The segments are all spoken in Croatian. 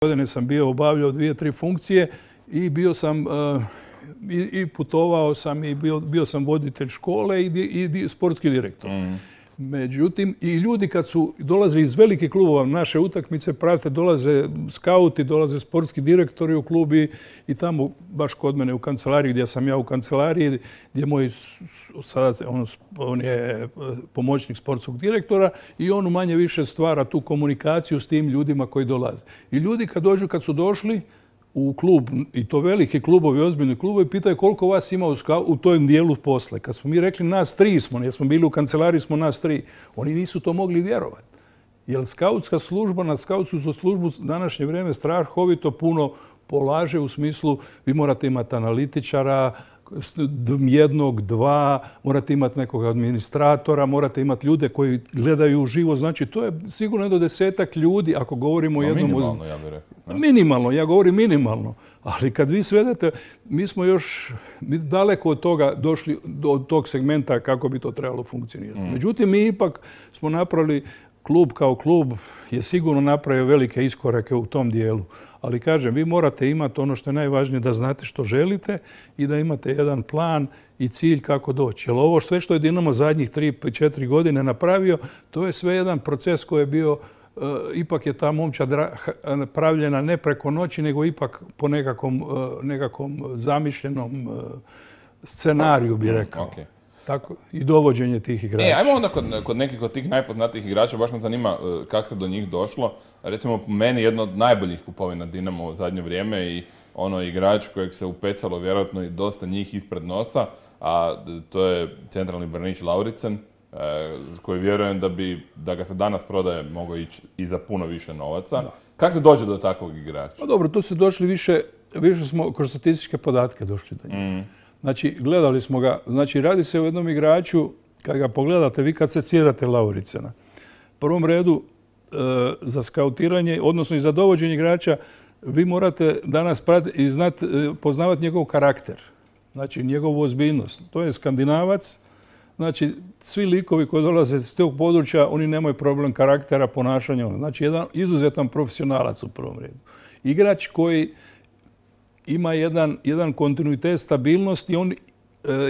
godine sam bio obavljao 2-3 funkcije i bio sam i putovao sam i bio sam voditelj škole i sportski direktor. Međutim, i ljudi kad su dolazili iz velikih klubova, naše utakmice prate, dolaze skauti, dolaze sportski direktori u klub i tamo, baš kod mene u kancelariji, gdje sam ja u kancelariji, gdje moj, sada on je pomoćnik sportskog direktora i on manje više stvara tu komunikaciju s tim ljudima koji dolaze. I ljudi kad su došli u klub, i to veliki klubovi, ozbiljni klubovi, pitaju koliko vas ima u tom dijelu posle. Kad smo mi rekli nas 3 smo, jer smo bili u kancelariji, smo nas 3. Oni nisu to mogli vjerovati. Jer skautska služba, na skautsku službu današnje vrijeme strahovito puno polaže u smislu vi morate imati analitičara, 1, 2, morate imati nekog administratora, morate imati ljude koji gledaju uživo. Znači, to je sigurno do 10-ak ljudi, ako govorimo o jednom... Minimalno, ja bih rekao. Minimalno, ja govorim minimalno. Ali kad vi svedete, mi smo još daleko od toga došli, od tog segmenta kako bi to trebalo funkcionirati. Međutim, mi ipak smo napravili, klub kao klub je sigurno napravio velike iskorake u tom dijelu. Ali kažem, vi morate imati ono što je najvažnije, da znate što želite i da imate jedan plan i cilj kako doći. Jer ovo sve što je Dinamo zadnjih 3-4 godine napravio, to je sve jedan proces koji je bio, ipak je ta momčad pravljena ne preko noći, nego ipak po nekakvom zamišljenom scenariju, bi rekao. Tako, i dovođenje tih igrača. Ajmo onda kod nekih od tih najpoznatijih igrača, baš me zanima kako se do njih došlo. Recimo, po meni jedno od najboljih kupovina Dinamo u zadnje vrijeme i ono igrač kojeg se upecalo vjerojatno i dosta njih ispred nosa, a to je centralni branič Lauritsen, koji vjerujem da ga se danas prodaje mogao ići i za puno više novaca. Kako se dođe do takvog igrača? Pa dobro, tu se došli više smo kroz statističke podatke došli do njega. Znači, gledali smo ga, znači radi se o jednom igraču, kad ga pogledate, vi kad se sjedate Lauricena, u prvom redu za skautiranje, odnosno i za dovođenje igrača, vi morate danas poznavati njegov karakter, znači njegovu ozbiljnost. To je Skandinavac, znači svi likovi koji dolaze iz tog područja, oni nemaju problem karaktera, ponašanja, znači jedan izuzetan profesionalac u prvom redu. Igrač koji ima jedan kontinuitet, stabilnost i on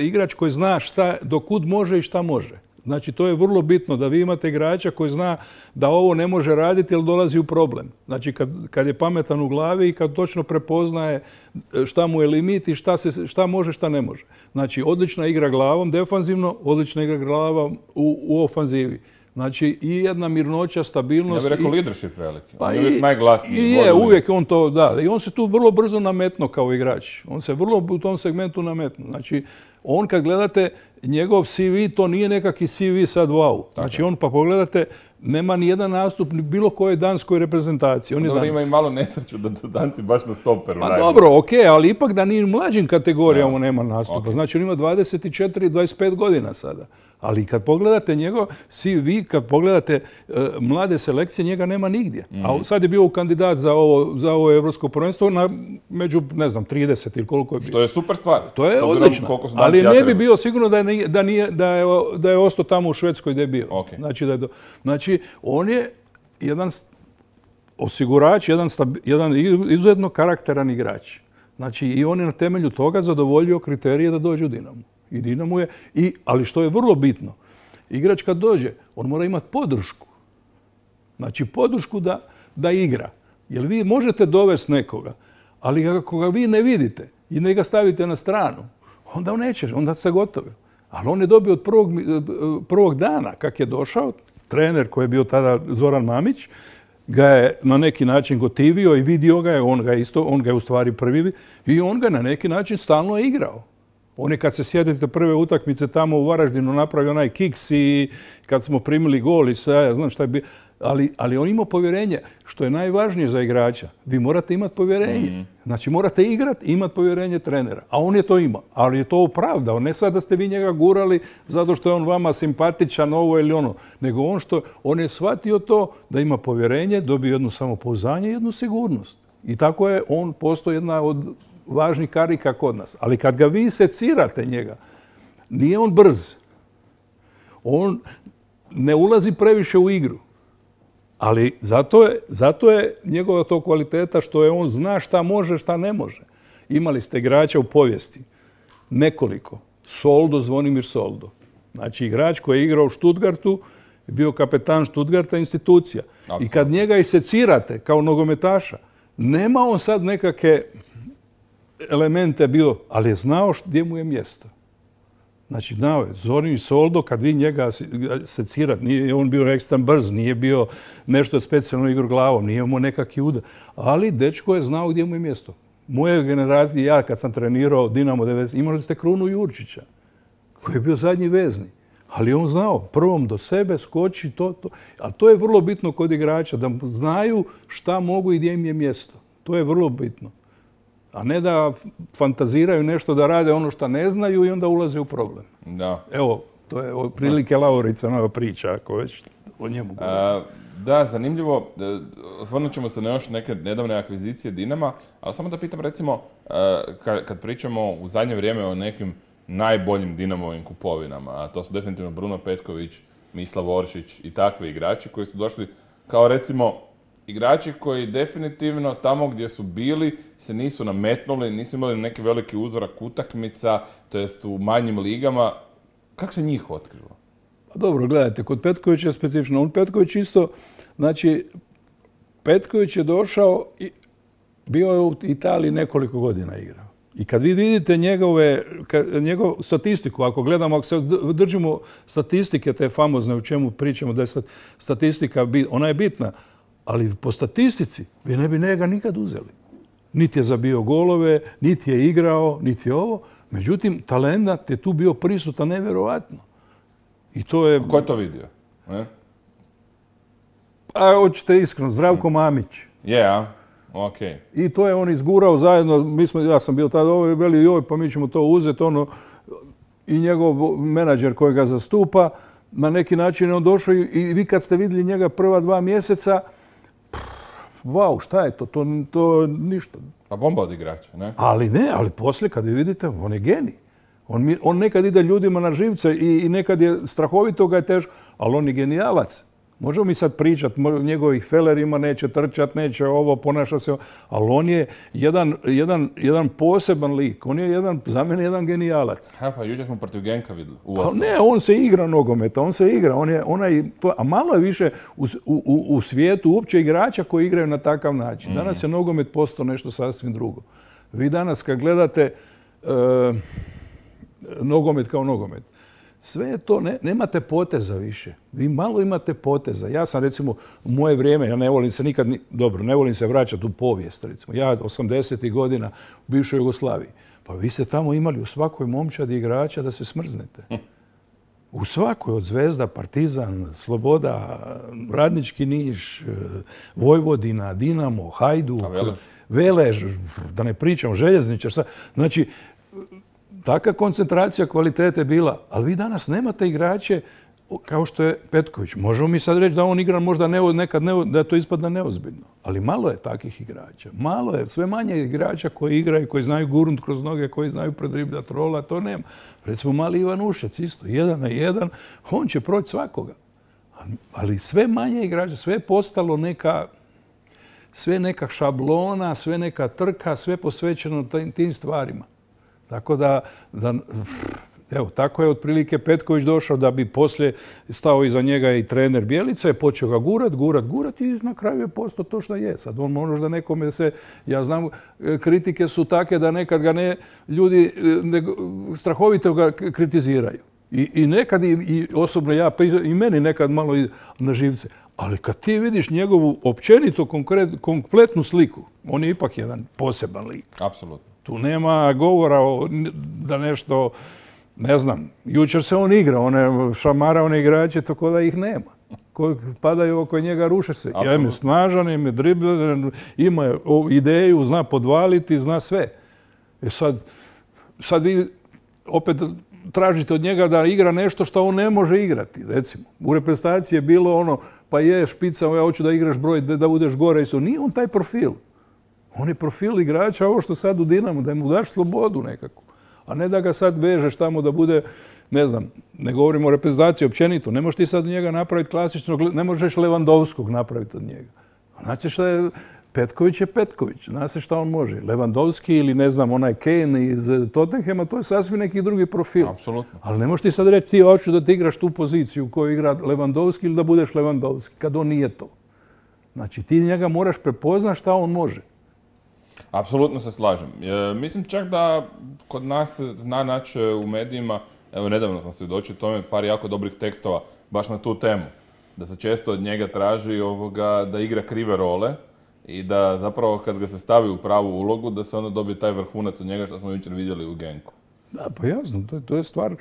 igrač koji zna do kud može i šta može. Znači, to je vrlo bitno da vi imate igrača koji zna da ovo ne može raditi jer dolazi u problem. Znači, kad je pametan u glavi i kad točno prepoznaje šta mu je limit i šta može, šta ne može. Znači, odlična igra glavom defanzivno, odlična igra glavom u ofanzivi. Znači, i jedna mirnoća, stabilnost... Ja bih rekao leadership veliki. On je uvijek najglasniji. Je, uvijek on to, da. I on se tu vrlo brzo nametno kao igrač. On se vrlo u tom segmentu nametno. Znači, on kad gledate njegov CV, to nije nekakvi CV sad wow. Znači, on pa pogledate, nema ni jedan nastup ni bilo kojoj danskoj reprezentaciji. Dobro, ima i malo nesreću da danci baš na stoperu. Pa dobro, okej, ali ipak da ni u mlađim kategorijama nema nastupa. Znači, on ima 24-25 godina sada. Ali kad pogledate njegov CV, kad pogledate mlade selekcije, njega nema nigdje. A sad je bio kandidat za ovo evropsko prvenstvo među, ne znam, 30 ili koliko je bio. Što je super stvar. To je odlično. Ali ne bi bio sigurno da je ostao tamo u Švedskoj gdje je bio. Znači, on je jedan osigurač, jedan izuzetno karakteran igrač. Znači, i on je na temelju toga zadovoljio kriterije da dođe u Dinamo. I Dinamo je, ali što je vrlo bitno, igrač kad dođe, on mora imati podršku. Znači, podršku da igra. Jer vi možete dovesti nekoga, ali ako ga vi ne vidite i ne ga stavite na stranu, onda on neće, onda ste gotovi. Ali on je dobio od prvog dana, kak je došao, trener koji je bio tada Zoran Mamić, ga je na neki način gotivio i vidio ga je, on ga je u stvari prvi i on ga na neki način stalno igrao. On je kad se sjetite prve utakmice tamo u Varaždinu napravio onaj kiks i kad smo primili gol i sve, ja znam šta je bilo. Ali on ima povjerenje, što je najvažnije za igrača. Vi morate imati povjerenje. Znači morate igrati i imati povjerenje trenera. A on je to imao. Ali je to opravdao. Ne sad da ste vi njega gurali zato što je on vama simpatičan, ovo ili ono. Nego on je shvatio to da ima povjerenje, dobio jedno samopouzdanje i jednu sigurnost. I tako je on postao jedna od važnih karika kod nas. Ali kad ga vi secirate njega, nije on brz. On ne ulazi previše u igru. Ali zato je njegova to kvaliteta što je on zna šta može, šta ne može. Imali ste igrača u povijesti. Nekoliko. Zvonimir Soldo. Znači igrač koji je igrao u Stuttgartu, bio kapetan Stuttgarta, institucija. Absolutno. I kad njega isecirate kao nogometaša, nema on sad nekakve elemente bio, ali je znao gdje mu je mjesto. Znači, znao je, Zvonimir Soldo, kad vi njega secirate, nije on bio ekstra brz, nije bio nešto specijalno igru glavom, nije imao nekakvi udar, ali dečko je znao gdje mu je mjesto. Moje generacije, ja kad sam trenirao Dinamo 90, imali ste Krunu Jurčića, koji je bio zadnji vezni. Ali on znao, prvom do sebe skoči to. A to je vrlo bitno kod igrača, da znaju šta mogu i gdje im je mjesto. To je vrlo bitno. A ne da fantaziraju nešto, da rade ono što ne znaju i onda ulaze u problem. Da. Evo, to je otprilike Laurica nova priča, ako već o njemu govorimo. Da, zanimljivo. Osvrnut ćemo se na još neke nedavne akvizicije Dinama, ali samo da pitam, recimo, kad pričamo u zadnje vrijeme o nekim najboljim Dinamovim kupovinama, a to su definitivno Bruno Petković, Mislav Oršić i takvi igrači koji su došli kao, recimo, igrači koji definitivno tamo gdje su bili se nisu nametnuli, nisu imali neki veliki uzorak utakmica, to jest u manjim ligama. Kako se njih otkrilo? Dobro, gledajte, kod Petkovića je specifično. Petković isto, znači, Petković je došao i bio je u Italiji nekoliko godina igrao. I kad vi vidite njegovu statistiku, ako gledamo, ako se držimo statistike te famozne, o čemu pričamo, da je statistika, ona je bitna, ali po statistici vi ne bi njega nikad uzeli. Niti je zabio golove, niti je igrao, niti je ovo. Međutim, talent je tu bio prisutan nevjerovatno. I to je... Ko je to vidio? A hoćete iskreno, Zdravko Mamić. Okay. I to je on izgurao zajedno, ja sam bio tada veli pa mi ćemo to uzeti, i njegov menadžer koji ga zastupa, na neki način je on došao i vi kad ste vidjeli njega prva 2 mjeseca, vau, šta je to? To ništa. Pa bomba od igrača, ne? Ali poslije kad vi vidite, on je genij. On nekad ide ljudima na živce i nekad je strahovito ga je teško, ali on je genijalac. Možemo mi sad pričati, njegovih felerima neće trčati, neće ovo, ponaša se, ali on je jedan poseban lik. On je za mene jedan genijalac. Pa jučer smo protiv Genka vidjeli. Ne, on se igra nogometa, on se igra. A malo je više u svijetu uopće igrača koji igraju na takav način. Danas je nogomet postao nešto sasvim drugo. Vi danas kad gledate nogomet kao nogomet, sve je to, nemate poteza više. Vi malo imate poteza. Ja sam, recimo, u moje vrijeme, ja ne volim se nikad, ne volim se vraćati u povijest, recimo. Ja 80. godina u bivšoj Jugoslaviji. Pa vi ste tamo imali u svakoj momčadi igrača da se smrznete. U svakoj, od Zvezda, Partizan, Sloboda, Radnički Niš, Vojvodina, Dinamo, Hajduk, Velež, da ne pričam, Željezničar. Znači, taka koncentracija kvalitete je bila, ali vi danas nemate igrače kao što je Petković. Možemo mi sad reći da on igra možda nekad da to ispadne neozbiljno, ali malo je takvih igrača. Malo je, sve manje igrača koji igraju, koji znaju gurnut kroz noge, koji znaju predribljati rola, to nema. Recimo mali Ivan Ušec isto, 1 na 1, on će proći svakoga. Ali sve manje igrača, sve je postalo sve neka šablona, sve neka trka, sve posvećeno tim stvarima. Tako da, evo, tako je otprilike Petković došao da bi poslije stao iza njega i trener Bjelica je počeo ga gurat i na kraju je postao to što je. Sad on možda nekome ja znam, kritike su take da nekad ga ljudi strahovito ga kritiziraju. I nekad, i osobno ja, i meni nekad malo na živce. Ali kad ti vidiš njegovu općenito kompletnu sliku, on je ipak jedan poseban lik. Apsolutno. Tu nema govora da nešto, ne znam, jučer se on igra, šamara one igrače, tako da ih nema. Koji padaju oko njega, ruše se. Ja im je snažan, im je dribler, ima ideju, zna podvaliti, zna sve. Sad vi opet tražite od njega da igra nešto što on ne može igrati, recimo. U reprezentaciji je bilo pa je špica, ja hoću da igraš broj, da budeš gore. Nije on taj profil. On je profil igrača, ovo što sad u Dinamu, da mu daš slobodu nekako. A ne da ga sad vežeš tamo da bude ne znam, ne govorimo o reprezentaciji općenito, ne možeš ti sad od njega napraviti klasičnog, ne možeš Lewandowskog napraviti od njega. Znači šta je, Petković je Petković, zna se šta on može. Lewandowski ili ne znam, onaj Kane iz Tottenhama, to je sasvim neki drugi profil. Apsolutno. Ali ne možeš ti sad reći ti hoću da ti igraš tu poziciju koju igra Lewandowski ili da budeš Lewandowski, kad on nije to. Znači ti njega moraš prepoznati šta on može. Apsolutno se slažem. Mislim čak da kod nas se zna naći u medijima, evo nedavno sam svjedočio tome, par jako dobrih tekstova baš na tu temu. Da se često od njega traži da igra krive role i da zapravo kad ga se stavi u pravu ulogu da se onda dobije taj vrhunac od njega što smo jučer vidjeli u Genku. Da, pa jasno, to je stvar.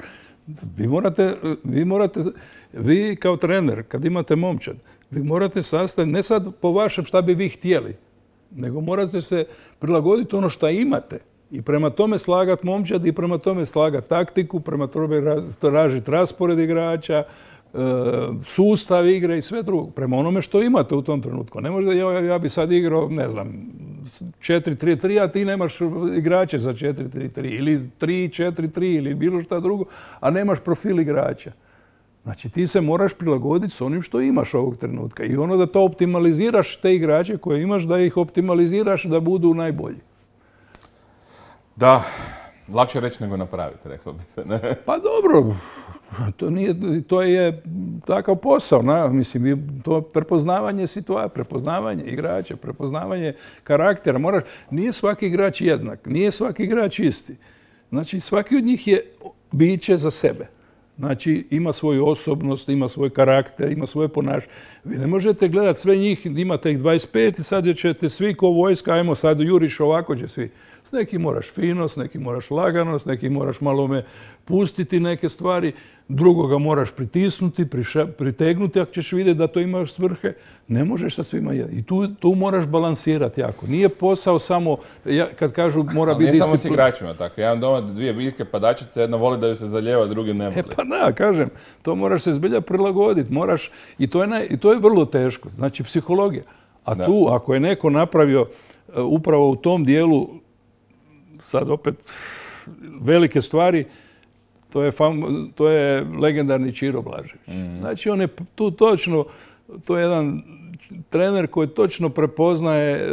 Vi kao trener, kad imate momčad, vi morate sastaviti, ne sad po vašem šta bi vi htjeli, nego morate se prilagoditi ono što imate i prema tome slagati momčad i prema tome slagati taktiku, prema tome tražiti raspored igrača, sustav igre i sve drugo. Prema onome što imate u tom trenutku. Ne može ja bi sad igrao, ne znam, 4-3-3, a ti nemaš igrače za 4-3-3 ili 3-4-3 ili bilo šta drugo, a nemaš profil igrača. Znači ti se moraš prilagoditi s onim što imaš ovog trenutka i ono da to optimaliziraš te igrače koje imaš, da ih optimaliziraš da budu najbolji. Da, lakše reći nego napraviti, reklo bi se. Ne? Pa dobro, to je takav posao. Mislim, to je prepoznavanje situacije, prepoznavanje igrača, prepoznavanje karaktera. Nije svaki igrač jednak, nije svaki igrač isti. Znači svaki od njih je biće za sebe. Znači, ima svoju osobnost, ima svoj karakter, ima svoje ponašanje. Vi ne možete gledati sve njih, imate ih 25 i sad ćete svi ko vojska, ajmo sad juriš ovako će svi. S nekim moraš fino, s nekim moraš lagano, s nekim moraš malo pustiti neke stvari, drugoga moraš pritisnuti, pritegnuti ako ćeš vidjeti da to imaš svrhe. Ne možeš sa svima jedno. I tu moraš balansirati jako. Nije posao samo, kad kažu mora biti disciplina. Ne samo s igračima tako. Ja imam doma 2 biljke padačice, jedna voli da ju se zaljeva, drugi ne voli. Pa da, kažem, to moraš se zbilja prilagoditi. I to je vrlo teško. Znači, psihologija. A tu, ako je neko napravio upravo u tom dijelu, sad opet velike stvari, to je legendarni Čiro Blažević. Znači, on je tu točno, to je jedan trener koji točno prepoznaje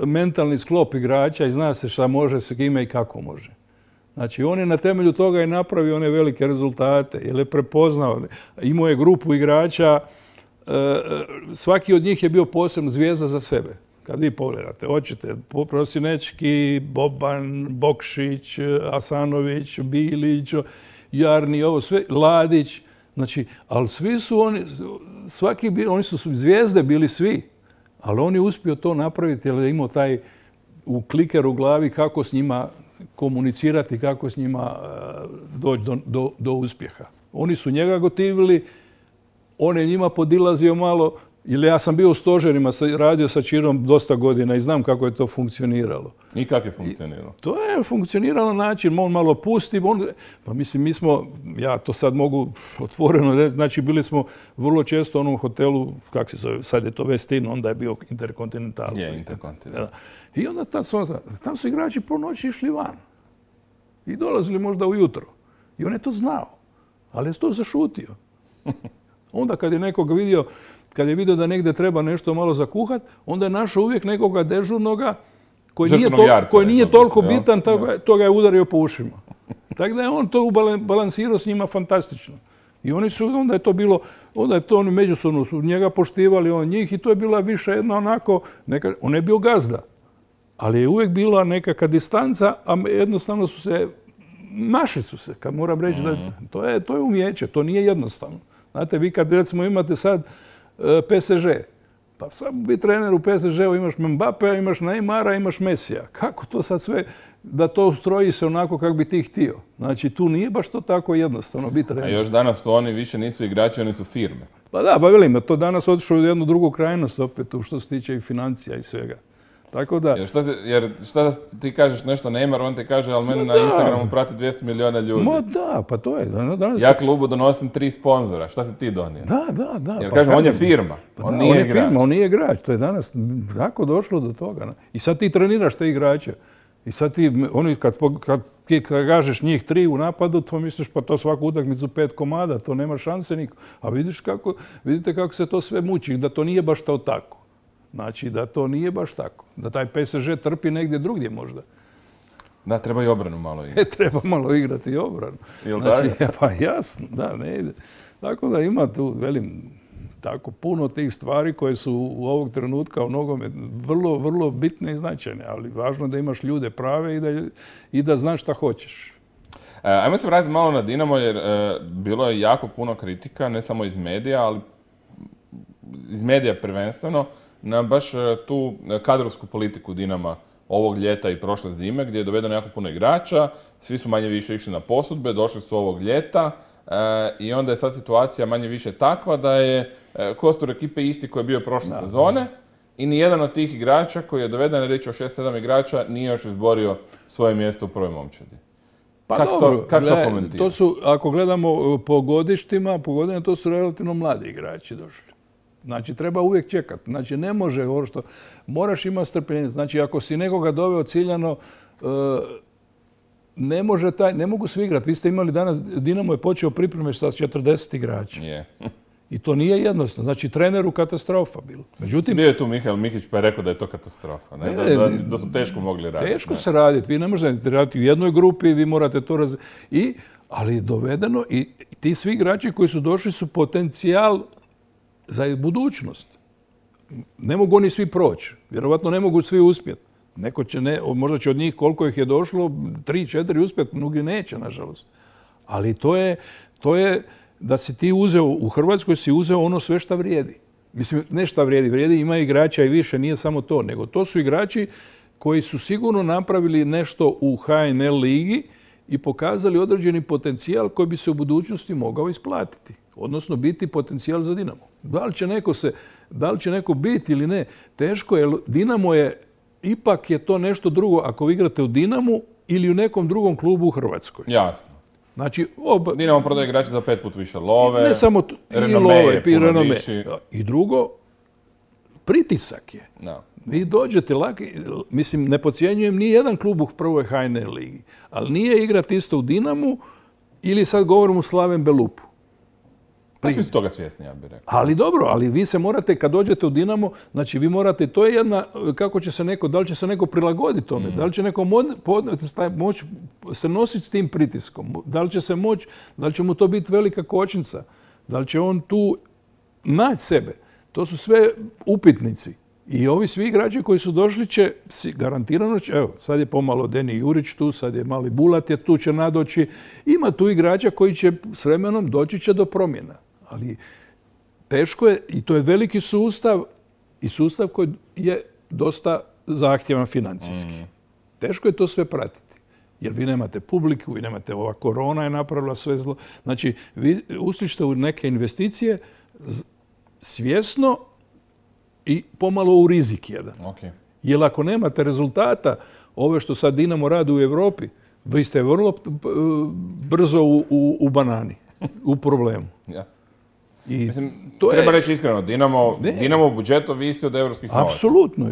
mentalni sklop igrača i zna se šta može, s kime i kako može. Znači, on je na temelju toga i napravio one velike rezultate, jer je prepoznao. Imao je grupu igrača, svaki od njih je bio posebno zvijezda za sebe. Kad vi pogledate, hoćete Prosinečki, Boban, Bokšić, Asanović, Bilić, Jarni, ovo sve, Ladić. Znači, ali svi su oni su zvijezde bili svi, ali on je uspio to napraviti jer je imao taj u kliker u glavi kako s njima komunicirati, kako s njima doći do uspjeha. Oni su njega gotivili, on je njima podilazio malo, jer ja sam bio u stožerima, radio sa Čirom dosta godina i znam kako je to funkcioniralo. I kako je funkcioniralo? To je funkcioniralo na način, on malo pusti, pa mislim, mi smo, ja to sad mogu otvoreno reći, znači bili smo vrlo često u onom hotelu, kako se zove, sad je to Westin, onda je bio Intercontinental. Je, Intercontinental. I onda tam su igrači po noći išli van. I dolazili možda ujutro. I on je to znao, ali je to zašutio. Onda kad je nekog vidio, kad je vidio da negdje treba nešto malo zakuhat, onda je našao uvijek nekoga dežurnoga koji nije toliko bitan, to ga je udario po ušima. Tako da je on to balansirao s njima fantastično. I onda je to bilo, onda je to oni međusobno su njega poštivali, on njih i to je bila više jedna onako, on je bio gazda. Ali je uvijek bila nekakva distanca, a jednostavno našli su se, kad moram reći da to je umijeće, to nije jednostavno. Znate, vi kad recimo imate sad PSG, pa samo biti trener u PSG-u, imaš Mbappéa, imaš Neymara, imaš Mesija. Kako to sad sve, da to ustroji se onako kako bi ti htio? Znači, tu nije baš to tako jednostavno biti trener. A još danas to oni više nisu igrači, oni su firme. Pa da, pa velim, to danas otišlo u jednu drugu krajnost opet, što se tiče i financija i svega. Tako da... Jer šta ti kažeš nešto Neymar, on ti kaže, ali mene na Instagramu prati 200 milijuna ljudi. Ma da, pa to je. Danas... Ja klubu donosim 3 sponzora, šta si ti donio? Da. Jer kažem, on je firma, on nije igrač. On nije igrač, to je danas tako došlo do toga. I sad ti treniraš te igrače. I sad ti, oni kad kažeš njih 3 u napadu, to misliš pa to svaku utakmicu 5 komada, to nema šanse niko. A vidite kako se to sve muči, da to nije baš to tako. Znači da to nije baš tako. Da taj PSG trpi negdje drugdje možda. Da, treba i obranu malo igrati. Treba malo igrati i obranu. Jel' znači, pa jasno, da, ne ide. Tako da ima tu, velim, tako puno tih stvari koje su u ovog trenutka u nogome vrlo, vrlo bitne i značajne, ali važno da imaš ljude prave i da znaš šta hoćeš. Ajmo se vratiti malo na Dinamo, jer bilo je jako puno kritika, ne samo iz medija, ali iz medija prvenstveno, na baš tu kadrovsku politiku Dinama ovog ljeta i prošle zime, gdje je dovedeno jako puno igrača, svi su manje više išli na posudbe, došli su ovog ljeta i onda je sad situacija manje više takva da je kostur ekipe isti koji je bio prošle sezone i nijedan od tih igrača koji je doveden, reći o 6-7 igrača, nije još izborio svoje mjesto u prvoj momčadi. Pa dobro, to su, ako gledamo po godištima, to su relativno mladi igrači došli. Znači, treba uvijek čekati. Znači, ne može ovo što... Moraš imati strpljenje. Znači, ako si nekoga doveo ciljano, ne mogu svi igrati. Vi ste imali danas, Dinamo je počeo pripreme sa 40 igrača. I to nije jednostavno. Znači, treneru katastrofa bilo. Međutim... Bio je tu Mihael Mihić pa je rekao da je to katastrofa. Da su teško mogli raditi. Teško se raditi. Vi ne možete raditi u jednoj grupi, vi morate to ali je dovedeno i ti svi igrači koji su došli su potencijal za budućnost. Ne mogu oni svi proći. Vjerovatno ne mogu svi uspjeti. Neko će možda će od njih koliko ih je došlo, 3-4 uspjeti, mnogi neće, nažalost. Ali to je da si ti uzeo, u Hrvatskoj si uzeo ono sve šta vrijedi. Mislim, ne šta vrijedi, ima igrača i više, nije samo to, nego to su igrači koji su sigurno napravili nešto u HNL ligi i pokazali određeni potencijal koji bi se u budućnosti mogao isplatiti. Odnosno biti potencijal za Dinamo. Da li će neko biti ili ne, teško je. Dinamo je, ipak je to nešto drugo ako vi igrate u Dinamu ili u nekom drugom klubu u Hrvatskoj. Jasno. Znači, Dinamo prodaje igrače za 5 puta više love. Ne samo renome. I drugo, pritisak je. Vi dođete laki, mislim, ne podcjenjujem ni jedan klub u prvoj HNL ligi, ali nije igrati isto u Dinamu ili sad govorim u Slaven Belupu. Svi su toga svjesni, ja bih rekao. Ali dobro, ali vi se morate, kad dođete u Dinamo, znači vi morate, to je jedna, kako će se neko, da li će se neko prilagoditi tome, da li će neko moći se nositi s tim pritiskom, da li će se moći, da li će mu to biti velika kočnica, da li će on tu naći sebe. To su sve upitnici. I ovi svi igrači koji su došli će, garantirano će, evo, sad je pomalo Deni Jurić tu, sad je mali Bulat je tu, će nadoći. Ima tu igrača koji će s vremenom doći će do promjena. Ali teško je, i to je veliki sustav, i sustav koji je dosta zahtjevan financijski. Teško je to sve pratiti. Jer vi nemate publiku, vi nemate, ova korona je napravila sve zlo. Znači, vi ušlište u neke investicije svjesno i pomalo u rizik jedan. Jer ako nemate rezultata, ove što sad Dinamo radi u Europi, vi ste vrlo brzo u banani, u problemu. Mislim, treba reći iskreno, Dinamo budžet ovisi od evropskih novaca. Apsolutno,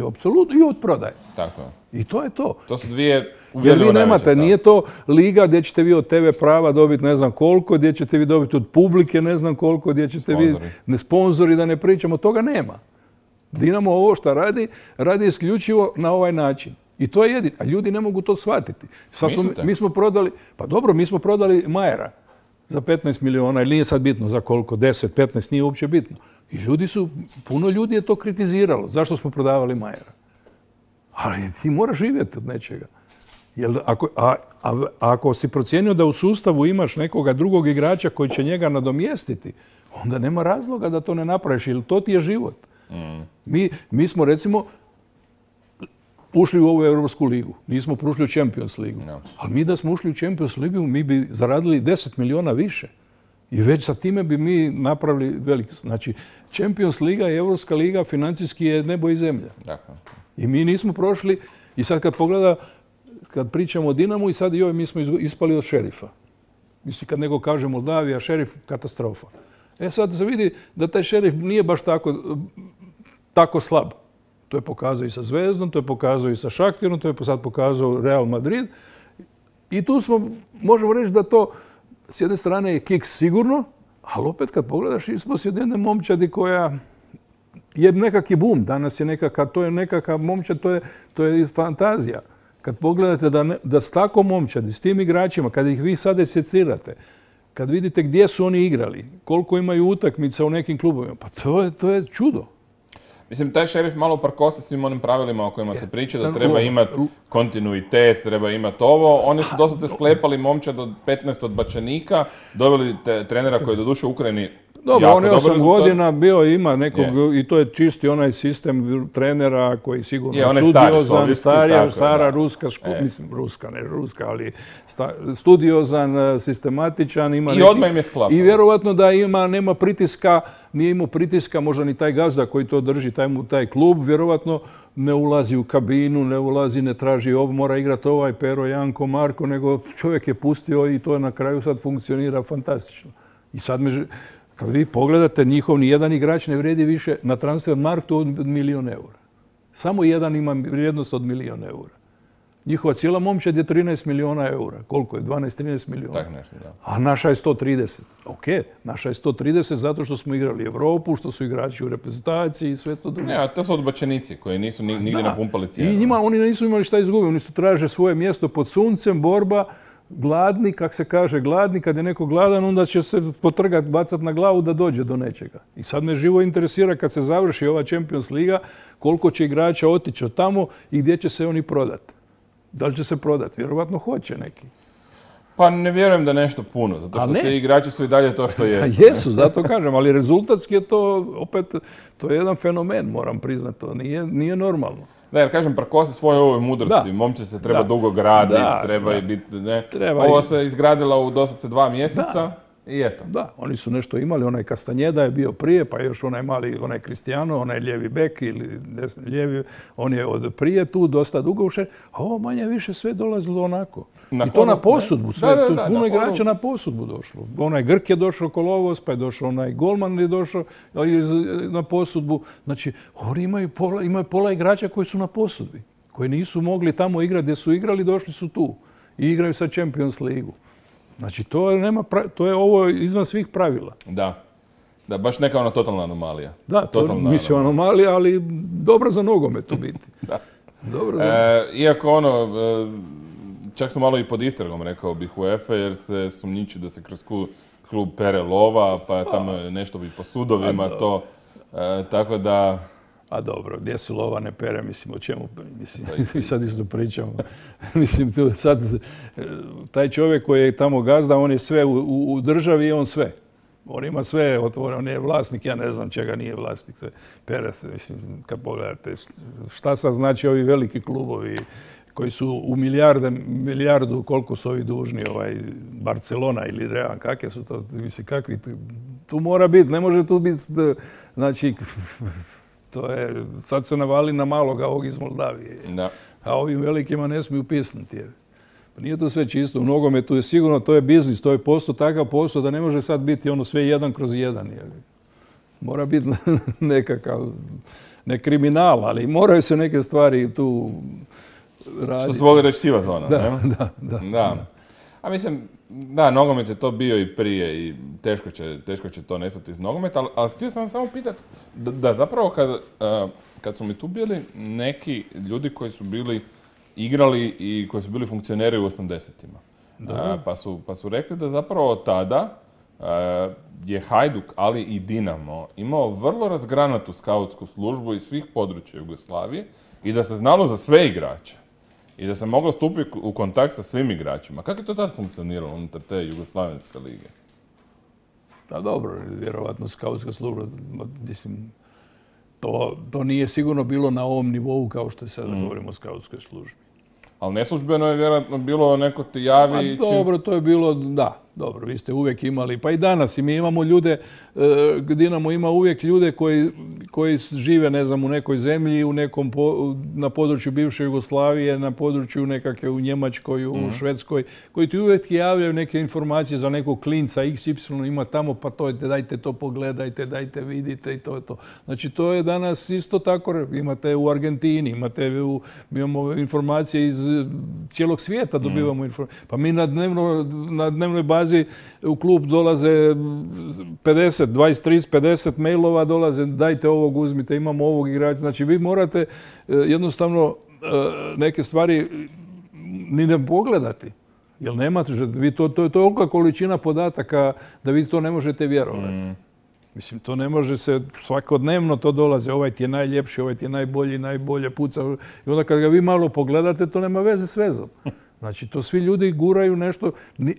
i od prodaje. Tako je. I to je to. To su dvije uvjerljivo najveće stavke. Nije to liga gdje ćete vi od TV prava dobiti ne znam koliko, gdje ćete vi dobiti od publike ne znam koliko, gdje ćete vi sponzori, da ne pričamo, toga nema. Dinamo ovo što radi isključivo na ovaj način. I to je jedino. A ljudi ne mogu to shvatiti. Mi smo prodali, pa dobro, mi smo prodali Majera za 15 miliona, ili nije sad bitno za koliko, 10, 15, nije uopće bitno. I puno ljudi je to kritiziralo. Zašto smo prodavali Majera? Ali ti moraš živjeti od nečega. Ako si procijenio da u sustavu imaš nekoga drugog igrača koji će njega nadomjestiti, onda nema razloga da to ne napraviš, jer to ti je život. Mi smo, recimo, ušli u ovu Europsku ligu. Nismo ušli u Champions ligu. Ali mi da smo ušli u Champions ligu, mi bi zaradili 10 miliona više. I već sa time bi mi napravili veliko. Znači, Champions liga i Europska liga financijski je nebo i zemlja. I mi nismo prošli. I sad kad pričamo o Dinamu, i sad mi smo ispali od Šerifa. Mislim, kad neko kaže Moldavija, Šerif, katastrofa. Sad se vidi da taj Šerif nije baš tako slab. To je pokazao i sa Zvezdom, to je pokazao i sa Šaktirom, to je sad pokazao Real Madrid. I tu možemo reći da to s jedne strane je kiks sigurno, ali opet kad pogledaš ispod jedne momčadi koja je nekakvi bum. Danas je to je nekakav momčad, to je fantazija. Kad pogledate da s takvom momčadi, s tim igračima, kad ih vi sad secirate, kad vidite gdje su oni igrali, koliko imaju utakmica u nekim klubovima, pa to je čudo. Mislim, taj Šerif malo prkosi svim onim pravilima o kojima se priča, da treba imati kontinuitet, treba imati ovo. Oni su dosta se sklepali momčad od 15 odbačenika, doveli trenera koji je doduše u Ukrajini dobro, on je 8 godina bio, ima nekog, i to je čisti onaj sistem trenera koji sigurno studiozan, stara ruska škola, mislim ruska, ne ruska, ali studiozan, sistematičan. I odmah im je sklapao. I vjerovatno da nema pritiska, nije imao pritiska, možda ni taj gazda koji to drži, taj klub, vjerovatno ne ulazi u kabinu, ne traži mora igrati ovaj Pero, Janko, Marko, nego čovjek je pustio i to na kraju sad funkcionira fantastično. I sad kad vi pogledate, njihov ni jedan igrač ne vredi više na transfer marktu od 1 milion eura. Samo jedan ima vrijednost od 1 milion eura. Njihova cijela momčad je 13 miliona eura. Koliko je? 12-13 miliona. Tak nešto, da. A naša je 130. Ok, naša je 130 zato što smo igrali Evropu, što su igrači u reprezentaciji i sve to drugo. Ne, to su odbačenici koji nisu nigdje napumpali cijenu. I njima oni nisu imali šta izgubiti. Oni su traže svoje mjesto pod suncem, borba, gladni, kak se kaže, gladni, kad je neko gladan, onda će se potrgati, bacati na glavu da dođe do nečega. I sad me živo interesira kad se završi ova Champions Liga, koliko će igrača otići od tamo i gdje će se oni prodati. Da li će se prodati? Vjerovatno hoće neki. Pa ne vjerujem da nešto puno, zato što ti igrači su i dalje to što jesu. Jesu, zato kažem, ali rezultatski je to, opet, to je jedan fenomen, moram priznati, to nije normalno. Da, jer kažem, prkosi svoje ovoj mudrosti. Momče se treba dugo graditi, treba i biti, ne. Ovo se izgradila u doslovce 2 mjeseca i eto. Da, oni su nešto imali, onaj Kastanjeda je bio prije, pa još onaj mali, onaj Cristiano, onaj lijevi bek ili desni lijevi, on je od prije tu dosta dugo ušao, a ovo manje više sve dolazilo onako. I to na posudbu, puno igrača na posudbu došlo. Onaj Grk je došao Kolovos, pa je došao onaj Golman je došao na posudbu. Znači, oni imaju pola igrača koji su na posudbi, koji nisu mogli tamo igrati gdje su igrali, došli su tu i igraju sad Champions Ligu. Znači, to je ovo izvan svih pravila. Da, baš neka ona totalna anomalija. Da, mislim anomalija, ali dobro za nogomet u biti. Da. Iako čak su malo i pod istragom, rekao bih, UEFA, jer se sumnjiči da se kroz klub pere lova, pa tamo nešto bi po sudovima to, tako da... A dobro, gdje su lova ne pere, mislim, o čemu, mislim, sad isto pričamo. Mislim, sad, taj čovjek koji je tamo gazda, on je sve u državi i on sve. On ima sve, on je vlasnik, ja ne znam čega nije vlasnik. Pere se, mislim, kad pogledate, šta sad znači ovi veliki klubovi koji su u milijardu, koliko su ovi dužni, Barcelona ili Real, kakve su to, mislim, kakvi, tu mora biti, ne može tu biti, znači, to je, sad se navali na maloga ovog iz Moldavije. A ovim velikima ne smiju pisnuti. Nije to sve čisto. U nogometu je sigurno, to je biznis, to je posao, takav posao da ne može sad biti ono sve 1/1. Mora biti nekakav, ne kriminal, ali moraju se neke stvari tu raditi. Što se voli reći siva zona, ne? Da. A mislim, da, nogomet je to bio i prije i teško će to nestati iz nogometa, ali htio sam samo pitati da zapravo kad su mi tu bili neki ljudi koji su bili igrali i koji su bili funkcioneri u 80-ima, pa su rekli da zapravo tada je Hajduk, ali i Dinamo imao vrlo razgranatu skautsku službu iz svih područja Jugoslavije i da se znalo za sve igrače. I da se moglo stupiti u kontakt sa svim igračima. Kako je to tad funkcioniralo unutar te Jugoslavenske lige? Da, dobro, vjerovatno skautska služba, mislim, to nije sigurno bilo na ovom nivou kao što sada govorimo o skautskoj službi. Ali neslužbeno je vjerojatno bilo neko ti javi... Dobro, to je bilo, da. Dobro, vi ste uvijek imali, pa i danas i mi imamo ljude, Dinamo ima uvijek ljude koji žive, ne znam, u nekoj zemlji, na području bivše Jugoslavije, na području nekakve u Njemačkoj, u Švedskoj, koji ti uvijek javljaju neke informacije za nekog klinca, XY ima tamo, pa to dajte to pogledajte, dajte vidite i to je to. Znači, to je danas isto tako, imate u Argentini, imamo informacije iz cijelog svijeta, dobivamo informacije. Pa mi na dnevnoj bazi u klub dolaze 50, 20, 30, 50 mailova dolaze, dajte ovog, uzmite, imamo ovog igrača. Znači, vi morate jednostavno neke stvari ni ne pogledati. Jer nemate, to je tolika količina podataka da vi to ne možete vjerovati. Mislim, to ne može se, svakodnevno to dolaze, ovaj ti je najljepši, ovaj ti je najbolji, najbolje puca. I onda kad ga vi malo pogledate, to nema veze s vezom. Znači, to svi ljudi guraju nešto,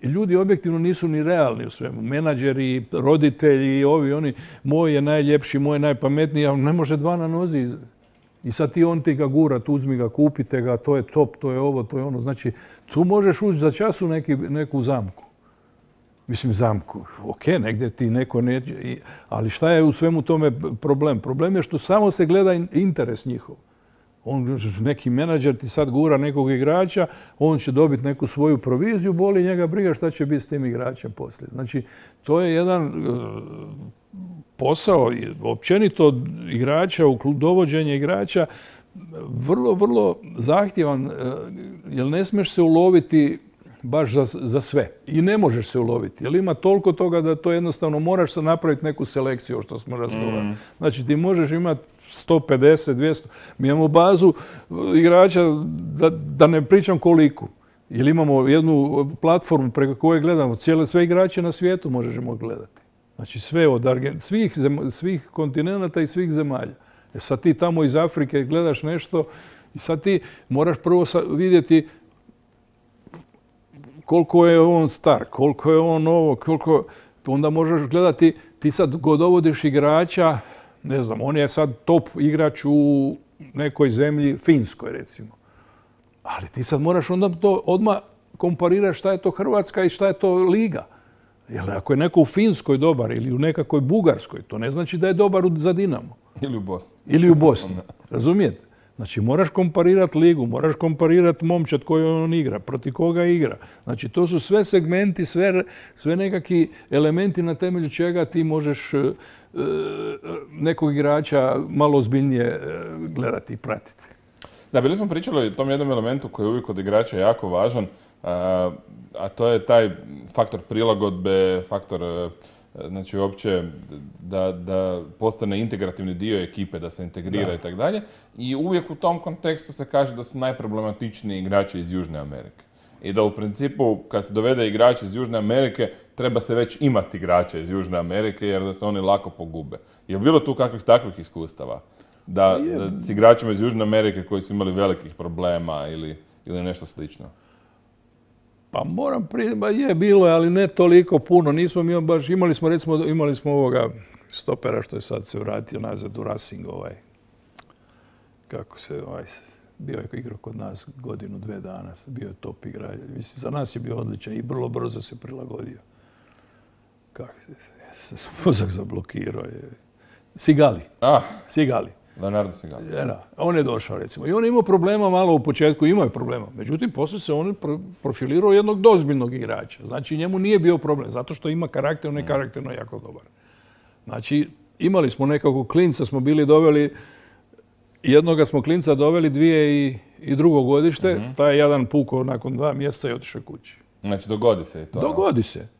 ljudi objektivno nisu ni realni u svemu. Menadžeri, roditelji, ovi, oni, moj je najljepši, moj je najpametniji, a ne može dva na nozi. I sad on ti ga gura, uzmi ga, kupite ga, to je top, to je ovo, to je ono. Znači, tu možeš ući za čas u neku zamku. Mislim, zamku. Ok, negdje ti neko neće, ali šta je u svemu tome problem? Problem je što samo se gleda interes njihov. Neki menadžer ti sad gura nekog igrača, on će dobiti neku svoju proviziju, boli njega briga šta će biti s tim igračem poslije. Znači, to je jedan posao, općenito igrača, dovođenje igrača, vrlo, vrlo zahtjevan, jer ne smiješ se uloviti baš za sve. I ne možeš se uloviti, jer ima toliko toga da to jednostavno moraš se napraviti neku selekciju, što smo razgovarali. Znači, ti možeš imati 150, 200. Mi imamo bazu igrača, da ne pričam koliko. Jer imamo jednu platformu preko koje gledamo sve igrače na svijetu možemo gledati. Znači, sve od svih kontinenata i svih zemalja. Sad ti tamo iz Afrike gledaš nešto i sad ti moraš prvo vidjeti koliko je on star, koliko je on ovo, onda možeš gledati, ti sad dovodiš igrača, ne znam, on je sad top igrač u nekoj zemlji, Finskoj recimo. Ali ti sad moraš onda to odmah komparirati šta je to Hrvatska i šta je to liga. Jer ako je neko u Finskoj dobar ili u nekakvoj Bugarskoj, to ne znači da je dobar za Dinamo. Ili u Bosni. Razumijete? Znači, moraš komparirati ligu, moraš komparirati momčad koju on igra, protiv koga igra. Znači, to su sve segmenti, sve nekakvi elementi na temelju čega ti možeš nekog igrača malo ozbiljnije gledati i pratiti. Da, bili smo pričali o tom jednom elementu koji je uvijek od igrača jako važan, a to je taj faktor prilagodbe, faktor znači uopće da postane integrativni dio ekipe, da se integrira i tako dalje. I uvijek u tom kontekstu se kaže da su najproblematičniji igrači iz Južne Amerike. I da u principu kad se dovede igrač iz Južne Amerike treba se već imati igrača iz Južne Amerike jer da se oni lako pogube. Je li bilo tu kakvih takvih iskustava? Da s igračima iz Južne Amerike koji su imali velikih problema ili nešto slično? Pa moram bilo je, ali ne toliko puno. Nismo mi baš, imali smo ovoga stopera što je sad se vratio nazad u Racing, bio je igrao kod nas godinu, 2 dana, bio je top igrač. Mislim, za nas je bio odličan i vrlo brzo se prilagodio. Mozak zablokirao je. Sigali. Leonardo Sigali. On je došao, recimo. I on je imao problema malo u početku, imao je problema. Međutim, poslije se on profilirao jednog dozbiljnog igrača. Znači, njemu nije bio problem, zato što ima karakter, on je karakterno jako dobar. Znači, imali smo nekakvog klinca, smo bili doveli, jednoga smo klinca doveli 2002. godište, taj jedan pukao nakon 2 mjeseca i otišao kući. Znači, dogodi se i to?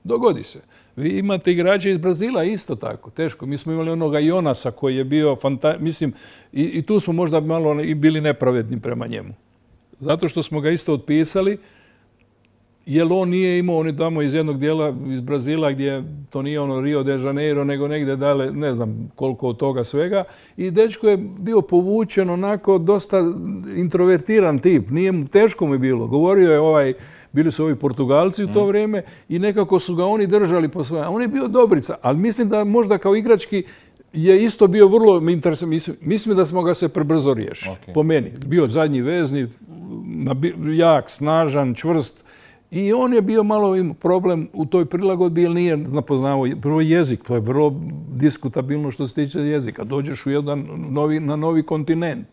Dogodi se. Vi imate igrače iz Brazila isto tako, teško. Mi smo imali onoga Jonasa koji je bio mislim, i tu smo možda malo i bili nepravedni prema njemu. Zato što smo ga isto otpisali, jer on nije imao, on je tamo iz jednog dijela iz Brazila gdje to nije ono Rio de Janeiro, nego negdje dalje, ne znam koliko od toga svega. I dečko je bio povučen onako dosta introvertiran tip. Teško mu je bilo. Govorio je bili su ovi Portugalci u to vrijeme i nekako su ga oni držali po svoje. On je bio dobrica, ali mislim da možda kao igrački je isto bio vrlo interesantan. Mislim da smo ga se prebrzo riješili. Po meni. Bio zadnji vezni, jak, snažan, čvrst I on je bio malo problem u toj prilagodbi jer nije napoznavao prvo jezik. To je vrlo diskutabilno što se tiče jezika. Dođeš na novi kontinent.